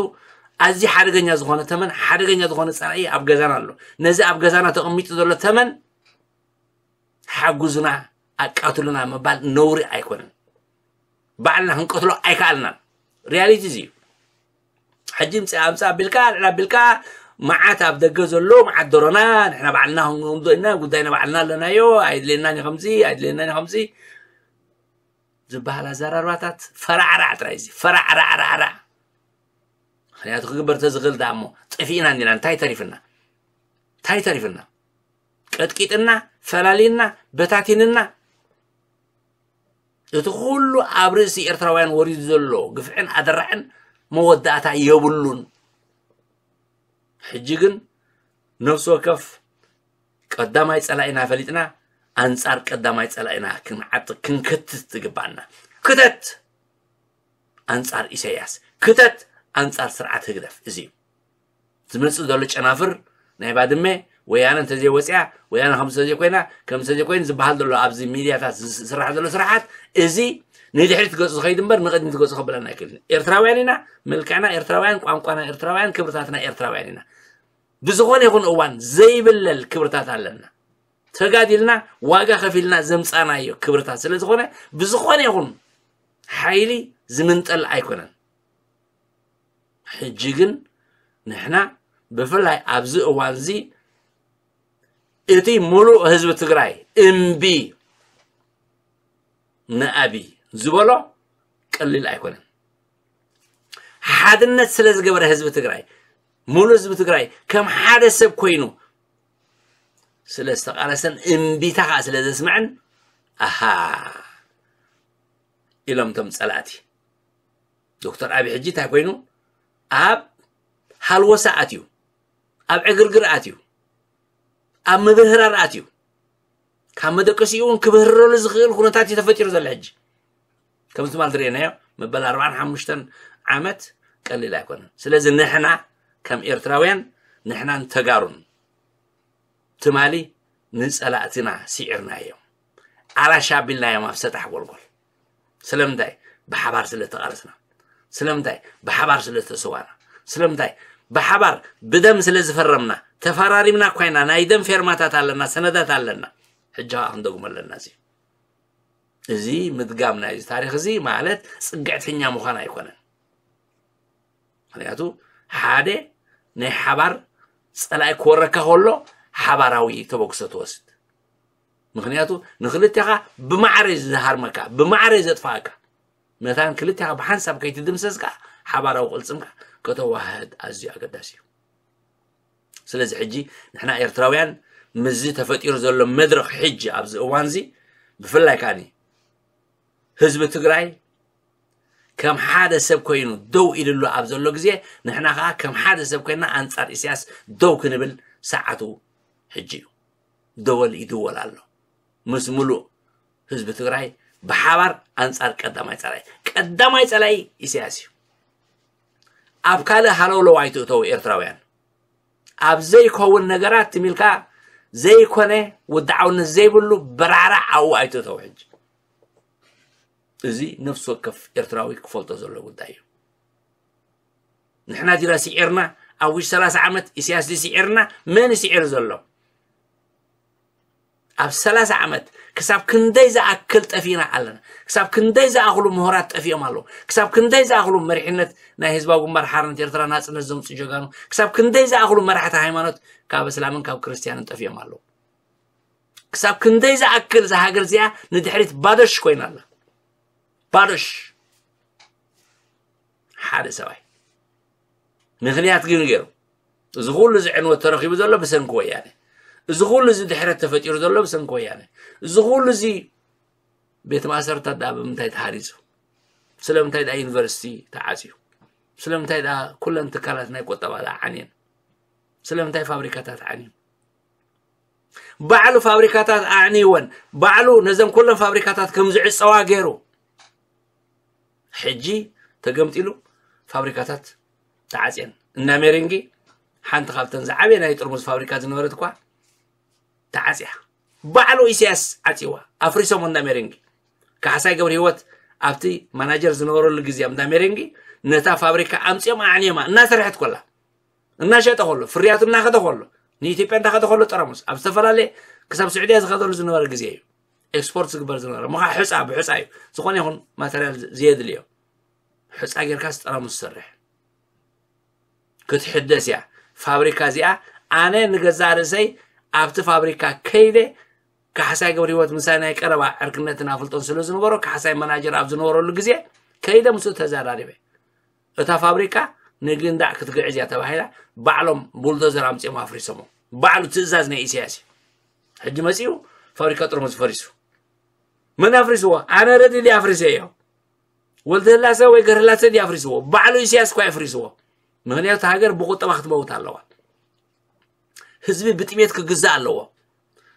ኣዝዩ ሓደገኛ ዝኾነ ተመን፣ ሓደገኛ ዝኾነ ጸላኢ ኣብ ገዛና ኣሎ። ነዚ ኣብ ገዛና ተቐሚጡ ዘሎ ተመን ሓጉዙና፣ ኣቃትሉና ምባል ነውሪ ኣይኮነን። ባዕልና ክንቀትሎ ኣይከኣልናን። ሪያሊቲ እዚ እዩ። ሕጂ ምጽእ ኣምጽእ ኣቢልካ፣ ልዕል ኣቢልካ፣ መዓት ኣብ ደገ ዘሎ፣ መዓት ደሮና፣ ንሕና ባዕልና ክንጎምዶ ኢና፣ ጉዳይና ባዕልና ኣለናዮ፣ ኣይድልየናን እዩ ከምዚ፣ ኣይድልየናን እዩ ከምዚ ዝበሃል ኣዘራርባታት ፈራዕራዕ ጥራይ እዚ፣ ፈራዕራዕራዕራዕ። ምኽንያቱ ክግበር ተዝኽእል ደኣ እሞ፣ ጠፊእና እንዲና፣ እንታይ ተሪፍና? እንታይ ተሪፍና? ቀጥቂጥና፣ ፈላሊና፣ በታቲንና። እቲ ኩሉ ኣብ ርእሲ ኤርትራውያን ወሪዱ ዘሎ ግፍዕን ኣደራዕን መወዳእታ የብሉን። ሕጂ ግን ነፍሲ ወከፍ ቀዳማይ ጸላኢና ፈሊጥና፣ ኣንጻር ቀዳማይ ጸላኢና ክንዓጥቕ፣ ክንክትት ትግባኣና። ክተት! ኣንጻር ኢሳያስ። ክተት! ኣንጻር ስርዓት ህግደፍ። እዚ እዩ። ዝመጽእ ዘሎ ጨናፍር ናይ ባድመ፣ ወያነ እንተዘይወጽያ፣ ወያነ ከምዚ እንተዘይኮይና፣ ከምዚ እንተዘይኮይኑ ዝበሃል ዘሎ ኣብዚ ሚድያታት ዝስ-፣ ዝስራሕ ዘሎ ስራሓት፣ እዚ ንድሕሪት ገጹ ዝኸይድ እምበር ንቕድሚት ገጹ ከብለና ኣይክእልን። ኤርትራውያን ኢና፣ መልክዕና ኤርትራውያን፣ ቋንቋና ኤርትራውያን፣ ክብርታትና ኤርትራውያን ኢና። ብዝኾነ ይኹን እዋን ዘይብለል ክብርታት ኣለና። ተጋዲልና፣ ዋጋ ከፊልና ዘምጻናዮ ክብርታት ስለ ዝኾነ፣ ብዝኾነ ይኹን ሓይሊ ዝምንጠል ኣይኮነን። ሕጂ ግን ንሕና ብፍላይ ኣብዚ እዋን እዚ እቲ ሙሉእ ህዝቢ ትግራይ እምቢ ንኣብይ ዝበሎ ቀሊል ኣይኮነን። ሓድነት ስለ ዝገበረ ህዝቢ ትግራይ፣ ሙሉእ ህዝቢ ትግራይ ከም ሓደ ሰብ ኮይኑ ስለ ዝተቓለሰን እምቢታ ከዓ ስለ ዘስምዐን፣ ኣሃ ኢሎም እቶም ጸላእቲ። ዶክተር ኣብይ ሕጂ እንታይ ኮይኑ? ኣብ ሃልወሳ ኣትዩ፣ ኣብ ዕግርግር ኣትዩ፣ ኣብ ምብህራር ኣትዩ። ካብ መደቀሲኡ እውን ክብህረሉ ዝኽእል ኩነታት እዩ ተፈጢሩ ዘሎ ሕጂ። ከምዚ ትማል ዝረኣናዮ መበል ኣርባዓን ሓሙሽተን ዓመት ቀሊል ኣይኮነን። ስለዚ ንሕና ከም ኤርትራውያን፣ ንሕናን ተጋሩን ትማሊ ንጸላእትና ስዒርናዮም። ኣራሽ ኣቢልናዮም ኣብ ሰጣሕ ጎልጎል። ስለምንታይ? ብሓባር ስለ ተቓለስና። ስለምንታይ? ብሓባር ስለ ዝተሰዋና። ስለምንታይ? ብሓባር ብደም ስለ ዝፈረምና። ተፈራሪምና እኳ ኢና፣ ናይ ደም ፌርማታት ኣለና፣ ሰነዳት ኣለና። ሕጂ ኸዓ ክንደግሞ ኣለና። እዚ፣ እዚ ምድጋም ናይዚ ታሪኽ እዚ ማለት ጽግዕተኛ ምዃን ኣይኮነን። ምኽንያቱ ሓደ ናይ ሓባር ጸላኢ ክወረካ ከሎ ሓባራዊ ተበግሶ ትወስድ። ምኽንያቱ ንክልቴኻ ብማዕረ እዩ ዝሃርመካ፣ ብማዕረ እዩ ዘጥፍኣካ። መታን ክልቴኻ ብሓንሳብ ከይትድምሰስ ከዓ ሓባራዊ ቅልጽምካ ከተዋህድ ኣዝዩ ኣገዳሲ እዩ። ስለዚ ሕጂ ንሕና ኤርትራውያን ምስዚ ተፈጢሩ ዘሎ መድረኽ ሕጂ ኣብዚ እዋንዚ ብፍላይ ከኣኒ ህዝቢ ትግራይ ከም ሓደ ሰብ ኮይኑ ደው ኢልሉ ኣብ ዘሎ ግዜ ንሕና ከዓ ከም ሓደ ሰብ ኮይና ኣንጻር ኢሳያስ ደው ክንብል ሰዓቱ ሕጂ እዩ። ደወል ይድወል ኣሎ። ምስ ሙሉእ ህዝቢ ትግራይ ብሓባር ኣንጻር ቀዳማይ ጸላኢ። ቀዳማይ ጸላኢ ኢሳያስ እዩ። ኣብ ካልእ ሃለውለው ኣይትእተው ኤርትራውያን። ኣብ ዘይከውን ነገራት ትሚልካ ዘይኮነ ውድዓውነት ዘይብሉ በራዕራዕ ኣብኡ ኣይትእተው ሕጂ። እዚ ነፍሲ ወከፍ ኤርትራዊ ክፈልጦ ዘሎ ጉዳይ እዩ። ንሕና ዲና ስዒርና ኣብ ውሽጢ ሰላሳ ዓመት ኢሳያስ ድዩ ስዒርና? መን እዩ ስዒሩ ዘሎ? ኣብ ሰላሳ ዓመት ክሳብ ክንደይ ዝኣክል ጠፊእና ኣለና? ክሳብ ክንደይ ዝኣኽሉ ምሁራት ጠፊኦም ኣለዉ? ክሳብ ክንደይ ዝኣኽሉ መሪሕነት ናይ ህዝባዊ ግንባር ሓርነት ኤርትራ ናጽነት ዘምጽኡ ጀጋኑ? ክሳብ ክንደይ ዝኣኽሉ መራሕቲ ሃይማኖት ካብ እስላምን ካብ ክርስትያንን ጠፊኦም ኣለዉ? ክሳብ ክንደይ ዝኣክል እዛ ሃገር እዚኣ ንድሕሪት ባዶሽ ኮይና ኣላ? ባዶሽ። ሓደ ሰብኣይ ምኽንያት ግን ገይሩ። እዚ ኩሉ እዚ ዕንወት ተረኺቡ ዘሎ ብሰንኪ ወያነ። እዚ ኩሉ እዚ ድሕረት ተፈጢሩ ዘሎ ብሰንኪ ወያነ። እዚ ኩሉ እዚ ቤት ማእሰርታት ደኣ ብምንታይ ተሃሪጹ? ስለምንታይ ደኣ ዩኒቨርሲቲ ተዓጽዩ? ስለምንታይ ደኣ ኩለን ትካላት ናይ ቁጠባ ደኣ ዓንየን? ስለምንታይ ፋብሪካታት ዓንዩ? ባዕሉ ፋብሪካታት ኣዕንይወን፣ ባዕሉ ነዘን ኩለን ፋብሪካታት ከም ዝዕጸዋ ገይሩ። ሕጂ ተገምጢሉ ፋብሪካታት ተዓጽየን። እና ሜሬንጊ ሓንቲ ካብተን ዝዓበየ ናይ ጥርሙዝ ፋብሪካ ዝነበረት እኳ ተዓጽያ። ባዕሉ ኢሳያስ ዓጽዋ፣ ኣፍሪሶም። እና ሜሬንጊ ካሕሳይ ገብረ ህይወት ኣብቲ ማናጀር ዝነበረሉ ግዜ ኣብ እንዳ ሜሬንጊ ነታ ፋብሪካ ኣምጽኦም ኣዕንዮማ እናሰርሐት ኮላ፣ እናሸጠ ከሎ፣ ፍርያቱ እናኸደ ከሎ፣ ንኢትዮጵያ እንዳኸደ ከሎ፣ ጠራሙስ ኣብ ዝተፈላለየ ክሳብ ስዑድያ ዝኸደሉ ዝነበረ ግዜ እዩ። ኤክስፖርት ዝግበር ዝነበረ ምኻ ሕፃ ብሕፃ እዩ። ዝኾነ ይኹን ማተርያል ዘየድልዮ ሕፃ ጌርካስ ጠራሙስ ዝሰርሕ ክትሕደስ እያ። ፋብሪካ እዚኣ ኣነ ንገዛእ ርእሰይ ኣብቲ ፋብሪካ ከይደ ካሕሳይ ገብረ ህይወት ምሳይ ናይ ቀረባ ዕርክነትን ኣፍልጦን ስለ ዝነበሮ ካሕሳይ መናጀር ኣብ ዝነበረሉ ግዜ ከይደ ምስኡ ተዘራሪበ። እታ ፋብሪካ ንግንዳዕ ክትግዕዝ እያ ተባሂላ ባዕሎም ቡልዶዘር ኣምጺኦም ኣፍሪሶሞ። ባዕሉ ትእዛዝ ናይ ኢሳያስ እዩ። ሕጂ መጺኡ ፋብሪካ ጥርሙዝ ፈሪሱ። መን ኣፍሪስዎ? ኣነ ረዲ ድየ ኣፍሪሰዮ? ወልደህላሰ ወይ ገርህላሰ ድየ ኣፍሪስዎ? ባዕሉ ኢሳያስ እኳ ኣፍሪስዎ። ምኽንያቱ ሃገር ብቁጠባ ክትመውት ኣለዋ። ህዝቢ ብጥሜት ክግዛእ ኣለዎ።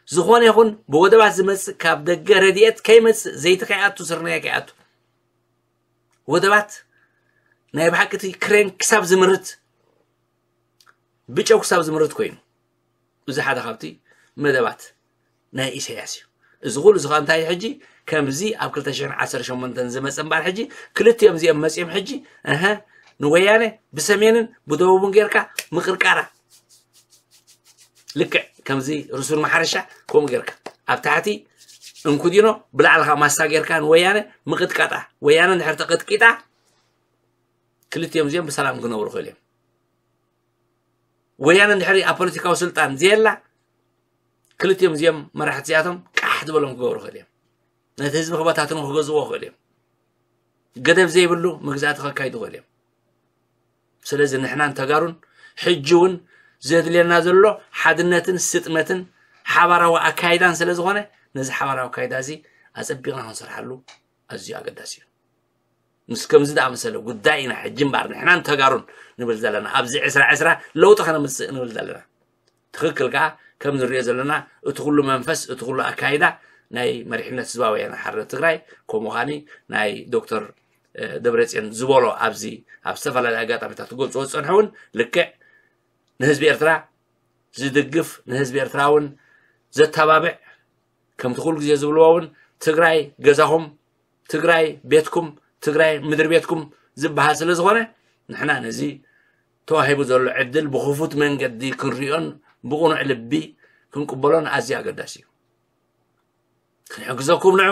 ዝኾነ ይኹን ብወደባት ዝመጽእ ካብ ደገ ረድኤት ከይመጽእ፣ ዘይቲ ከይኣቱ፣ ስርናይ ከይኣቱ፣ ወደባት ናይ ብሓቂ እቲ ክሬን ክሳብ ዝምርት፣ ብጨው ክሳብ ዝምርት ኮይኑ፣ እዚ ሓደ ካብቲ መደባት ናይ ኢሳያስ እዩ። እዚ ኩሉ እዚ ኸኣ እንታይ እዩ? ሕጂ ከምዚ ኣብ ክልተ ሽሕን ዓሰርተ ሸሞንተን ዝመጸ እምበኣር፣ ሕጂ ክልቲኦም እዚኦም መጺኦም ሕጂ፣ እሀ፣ ንወያነ ብሰሜንን ብደቡብን ጌርካ ምቕርቃራ፣ ልክዕ ከምዚ ርሱን ማሕረሻ ከምኡ ጌርካ ኣብ ታሕቲ እንኩዲኖ፣ ብላዕሊ ኸኣ ማሳ ጌርካ ንወያነ ምቕጥቃጣ። ወያነ እንድሕር ተቐጥቂጣ፣ ክልቲኦም እዚኦም ብሰላም ክነብሩ ክእል እዮም። ወያነ እንድሕሪ ኣብ ፖለቲካዊ ስልጣን ዘየላ፣ ክልቲኦም እዚኦም መራሕቲ እዚኣቶም ቃሕ ዝበሎም ክገብሩ ክእል እዮም። ነቲ ህዝቢ ክበታትኑ ክገዝዎ ክእል እዮም። ገደብ ዘይብሉ መግዛእቲ ከካይዱ ክእል እዮም። ስለዚ ንሕናን ተጋሩን ሕጂ እውን ዘድልየና ዘሎ ሓድነትን ስጥመትን ሓባራዊ ኣካይዳን ስለ ዝኾነ፣ ነዚ ሓባራዊ ኣካይዳ እዚ ኣጸቢቕና ክንሰርሓሉ ኣዝዩ ኣገዳሲ እዩ። ምስ ከምዚ ዝኣመሰለ ጉዳይ ኢና ሕጂ እምበኣር ንሕናን ተጋሩን ንብል ዘለና። ኣብዚ ዕስራ ዕስራ ለውጢ ከነምጽእ ንብል ዘለና። ትኽክል ከኣ ከም ንሪኦ ዘለና እቲ ኩሉ መንፈስ፣ እቲ ኩሉ ኣካይዳ ናይ መሪሕነት ህዝባዊ ወያነ ሓርነት ትግራይ፣ ከምኡ ኸኣኒ ናይ ዶክተር፣ እ፣ ደብረጽዮን ዝበሎ ኣብዚ ኣብ ዝተፈላለዩ ኣጋጣሚታት ክገልጽዎ ዝጸንሑ እውን ልክዕ ንህዝቢ ኤርትራ ዝድግፍ፣ ንህዝቢ ኤርትራ እውን ዘተባብዕ፣ ከምቲ ኩሉ ግዜ ዝብልዎ እውን ትግራይ ገዛኹም፣ ትግራይ ቤትኩም፣ ትግራይ ምድሪ ቤትኩም ዝበሃል ስለ ዝኾነ፣ ንሕና ነዚ ተዋሂቡ ዘሎ ዕድል ብኽፉት መንገዲ ክንሪኦን ብቕኑዕ ልቢ ክንቅበሎን ኣዝዩ ኣገዳሲ እዩ። ክንሕግዘኩም ንዑ፣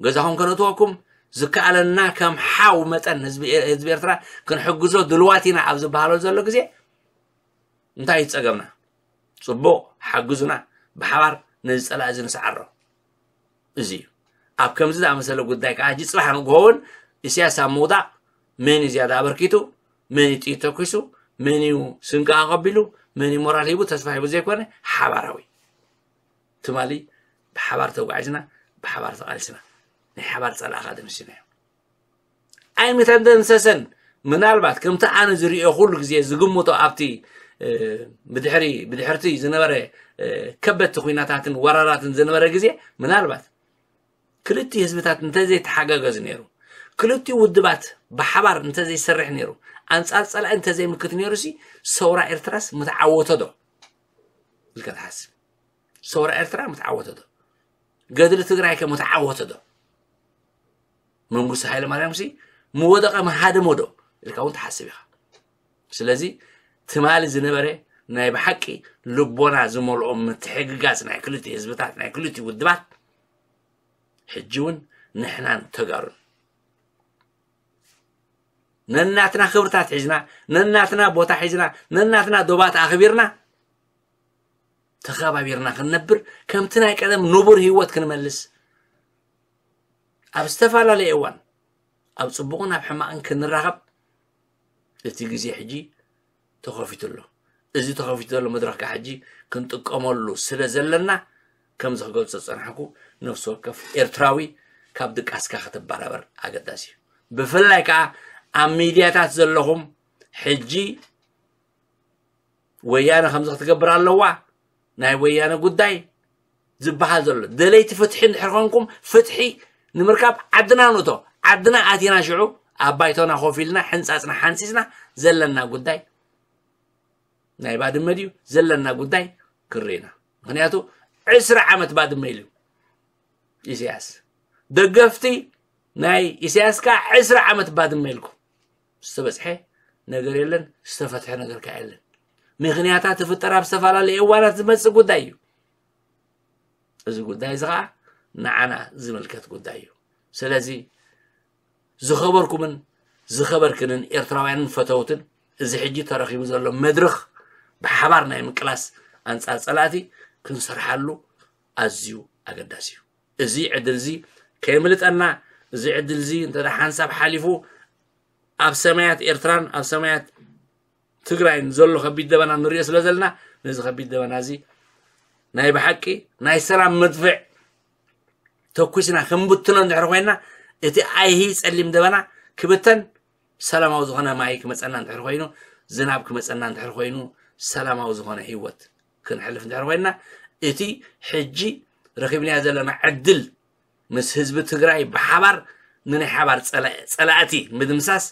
ገዛኹም ከነእትወኩም፣ ዝከኣለና ከም ሓው መጠን ህዝቢ፣ ህዝቢ ኤርትራ ክንሕግዞ ድልዋት ኢና ኣብ ዝበሃሎ ዘሎ ግዜ፣ እንታይ እዩ ጸገምና? ጽቡቕ፣ ሓግዙና፣ ብሓባር ነዚ ጸላኢ እዚ ንስዓሮ። እዚ እዩ። ኣብ ከምዚ ዝኣመሰለ ጉዳይ ከኣ ሕጂ ጽባሕ ንግሆ እውን ኢሳያስ ኣብ ምውዳቕ መን እዩ ዝያዳ ኣበርኪቱ፣ መን እዩ ጥይት ተኩሱ፣ መን እዩ ስንቂ ኣቐቢሉ፣ መን እዩ ሞራል ሂቡ፣ ተስፋ ሂቡ ዘይኮነ፣ ሓባራዊ ትማሊ ብሓባር ተጓዒዝና፣ ብሓባር ተቓሊስና፣ ናይ ሓባር ጸላእኻ ደምሲናዮ። ኣይምተደምሰሰን። ምናልባት ከምቲ ኣነ ዝርእዮ ኩሉ ግዜ ዝግምቶ ኣብቲ፣ እ፣ ብድሕሪ፣ ብድሕርቲ ዝነበረ፣ እ፣ ከበድቲ ኲናታትን ወራራትን ዝነበረ ግዜ፣ ምናልባት ክልቲኡ ህዝብታት እንተዘይተሓጋገዙ ነይሩ፣ ክልቲኡ ውድባት ብሓባር እንተዘይሰርሕ ነይሩ፣ ኣንጻር ጸላኢ እንተዘይምክት ነይሩሲ፣ ሰውራ ኤርትራስ ምተዓወቶ ዶ ኢልካ ትሓስብ? ሰውራ ኤርትራ ምተዓወተ ዶ? ገድሊ ትግራይ ከ ምተዓወተ ዶ? መንግስቱ ሃይለ ማርያም ሲ ምወደቐ ምሃደሞ ዶ ኢልካ እውን ትሓስብ ኢኻ። ስለዚ ትማሊ ዝነበረ ናይ ብሓቂ ልቦና ዝመልኦ ምትሕግጋዝ ናይ ክልቲኡ ህዝብታት፣ ናይ ክልቲኡ ውድባት፣ ሕጂ እውን ንሕናን ተጋሩን ነናትና ክብርታት ሒዝና፣ ነናትና ቦታ ሒዝና፣ ነናትና ዶባት ኣኽቢርና፣ ተኸባቢርና ክንነብር፣ ከምቲ ናይ ቀደም ንቡር ህይወት ክንመልስ፣ ኣብ ዝተፈላለየ እዋን ኣብ ጽቡቕን ኣብ ሕማቕን ክንራኸብ፣ እቲ ግዜ ሕጂ ተኸፊቱ ኣሎ። እዚ ተኸፊቱ ዘሎ መድረኽ ከዓ ሕጂ ክንጥቀመሉ ስለ ዘለና፣ ከምዚ ክገልጾ ዝጸናሕኩ፣ ነፍሲ ወከፍ ኤርትራዊ ካብ ድቃስካ ክትበራበር ኣገዳሲ እዩ። ብፍላይ ከዓ ኣብ ሚድያታት ዘለኹም፣ ሕጂ ወያነ ከምዚ ክትገብር ኣለዋ፣ ናይ ወያነ ጉዳይ ዝበሃል ዘሎ፣ ደለይቲ ፍትሒ እንድሕር ኮንኩም፣ ፍትሒ ንምርካብ ዓድና ንእቶ። ዓድና ኣቲና፣ ሽዑ ኣብ ባይቶና ኮፍ ኢልና ሕንጻጽና ሓንጺጽና ዘለና ጉዳይ፣ ናይ ባድመ ድዩ ዘለና ጉዳይ ክርኢና። ምክንያቱ ዕስራ ዓመት ባድመ ኢሉ ኢሳያስ። ደገፍቲ ናይ ኢሳያስ ከዓ ዕስራ ዓመት ባድመ ኢልኩም። ዝተበጽሐ ነገር የለን፣ ዝተፈትሐ ነገር ከዓ የለን። ምክንያታት ትፍጠር ኣብ ዝተፈላለዩ እዋናት ዝመጽእ ጉዳይ እዩ። እዚ ጉዳይ እዚ ከዓ ንዓና ዝምልከት ጉዳይ እዩ። ስለዚ ዝኸበርኩምን ዝኸበርክንን ኤርትራውያንን ፈተውትን፣ እዚ ሕጂ ተረኺቡ ዘሎ መድረኽ ብሓባር ናይ ምቅላስ ኣንጻር ጸላእቲ ክንሰርሓሉ ኣዝዩ ኣገዳሲ እዩ። እዚ ዕድል እዚ ከየምልጠና፣ እዚ ዕድል እዚ እንተ ደኣ ሓንሳብ ሓሊፉ ኣብ ሰማያት ኤርትራን ኣብ ሰማያት ትግራይን ዘሎ ከቢድ ደበና ንሪኦ ስለ ዘለና፣ ነዚ ከቢድ ደበና እዚ ናይ ብሓቂ ናይ ሰላም መድፍዕ ተኩስና ክንብትኖ እንድሕር ኮይና፣ እቲ ኣይሂ ጸሊም ደበና ክብተን፣ ሰላማዊ ዝኾነ ማይ ክመጸና እንድሕር ኮይኑ፣ ዝናብ ክመጸና እንድሕር ኮይኑ፣ ሰላማዊ ዝኾነ ህይወት ክንሕልፍ እንድሕር ኮይና፣ እቲ ሕጂ ረኺብናዮ ዘለና ዕድል ምስ ህዝቢ ትግራይ ብሓባር ንናይ ሓባር ጸላ-፣ ጸላእቲ ምድምሳስ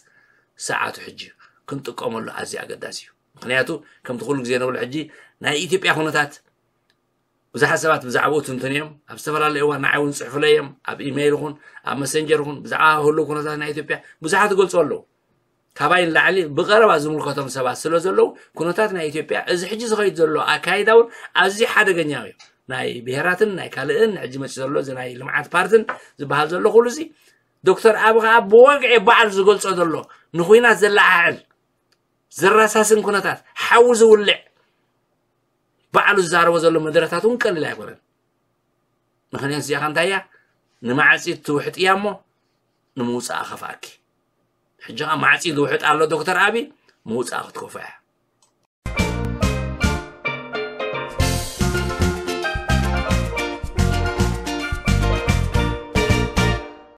ሰዓቱ ሕጂ እዩ። ክንጥቀመሉ ኣዝዩ ኣገዳሲ እዩ። ምክንያቱ ከምቲ ኩሉ ግዜ ንብሎ፣ ሕጂ ናይ ኢትዮጵያ ኩነታት ብዙሓት ሰባት ብዛዕባኡ ትንትኑ እዮም። ኣብ ዝተፈላለዩ እዋን ንዓይ እውን ጽሑፍለይ እዮም። ኣብ ኢሜይል ይኹን ኣብ መሰንጀር ይኹን ብዛዕባ ህሉው ኩነታት ናይ ኢትዮጵያ ብዙሓት ይገልጹ ኣለዉ። ካባይ ንላዕሊ ብቐረባ ዝምልከቶም ሰባት ስለ ዘለዉ፣ ኩነታት ናይ ኢትዮጵያ፣ እዚ ሕጂ ዝኸይድ ዘሎ ኣካይዳ እውን ኣዝዩ ሓደገኛ እዩ። ናይ ብሄራትን ናይ ካልእን፣ ሕጂ መፂኡ ዘሎ እዚ ናይ ልምዓት ፓርትን ዝበሃል ዘሎ ኩሉ እዚ፣ ዶክተር ኣብ ከዓ ብወግዒ ባዕሉ ዝገልጾ ዘሎ፣ ንኹናት ዘለዓዕል፣ ዘራሳስን ኩነታት፣ ሓዊ ዝውልዕ፣ ባዕሉ ዝዛረቦ ዘሎ መደረታት እውን ቀሊል ኣይኮነን። ምክንያቱ እዚኣ እንታይ እያ? ንማዕፂ ትውሕጥ እያ እሞ ንምውፃኣ ከፍኣኪ። ሕጂ ከዓ ማዕፂ ዝውሕጥ ኣሎ ዶክተር ኣቢ፣ ምውፃኣ ክትከፍኦ እያ።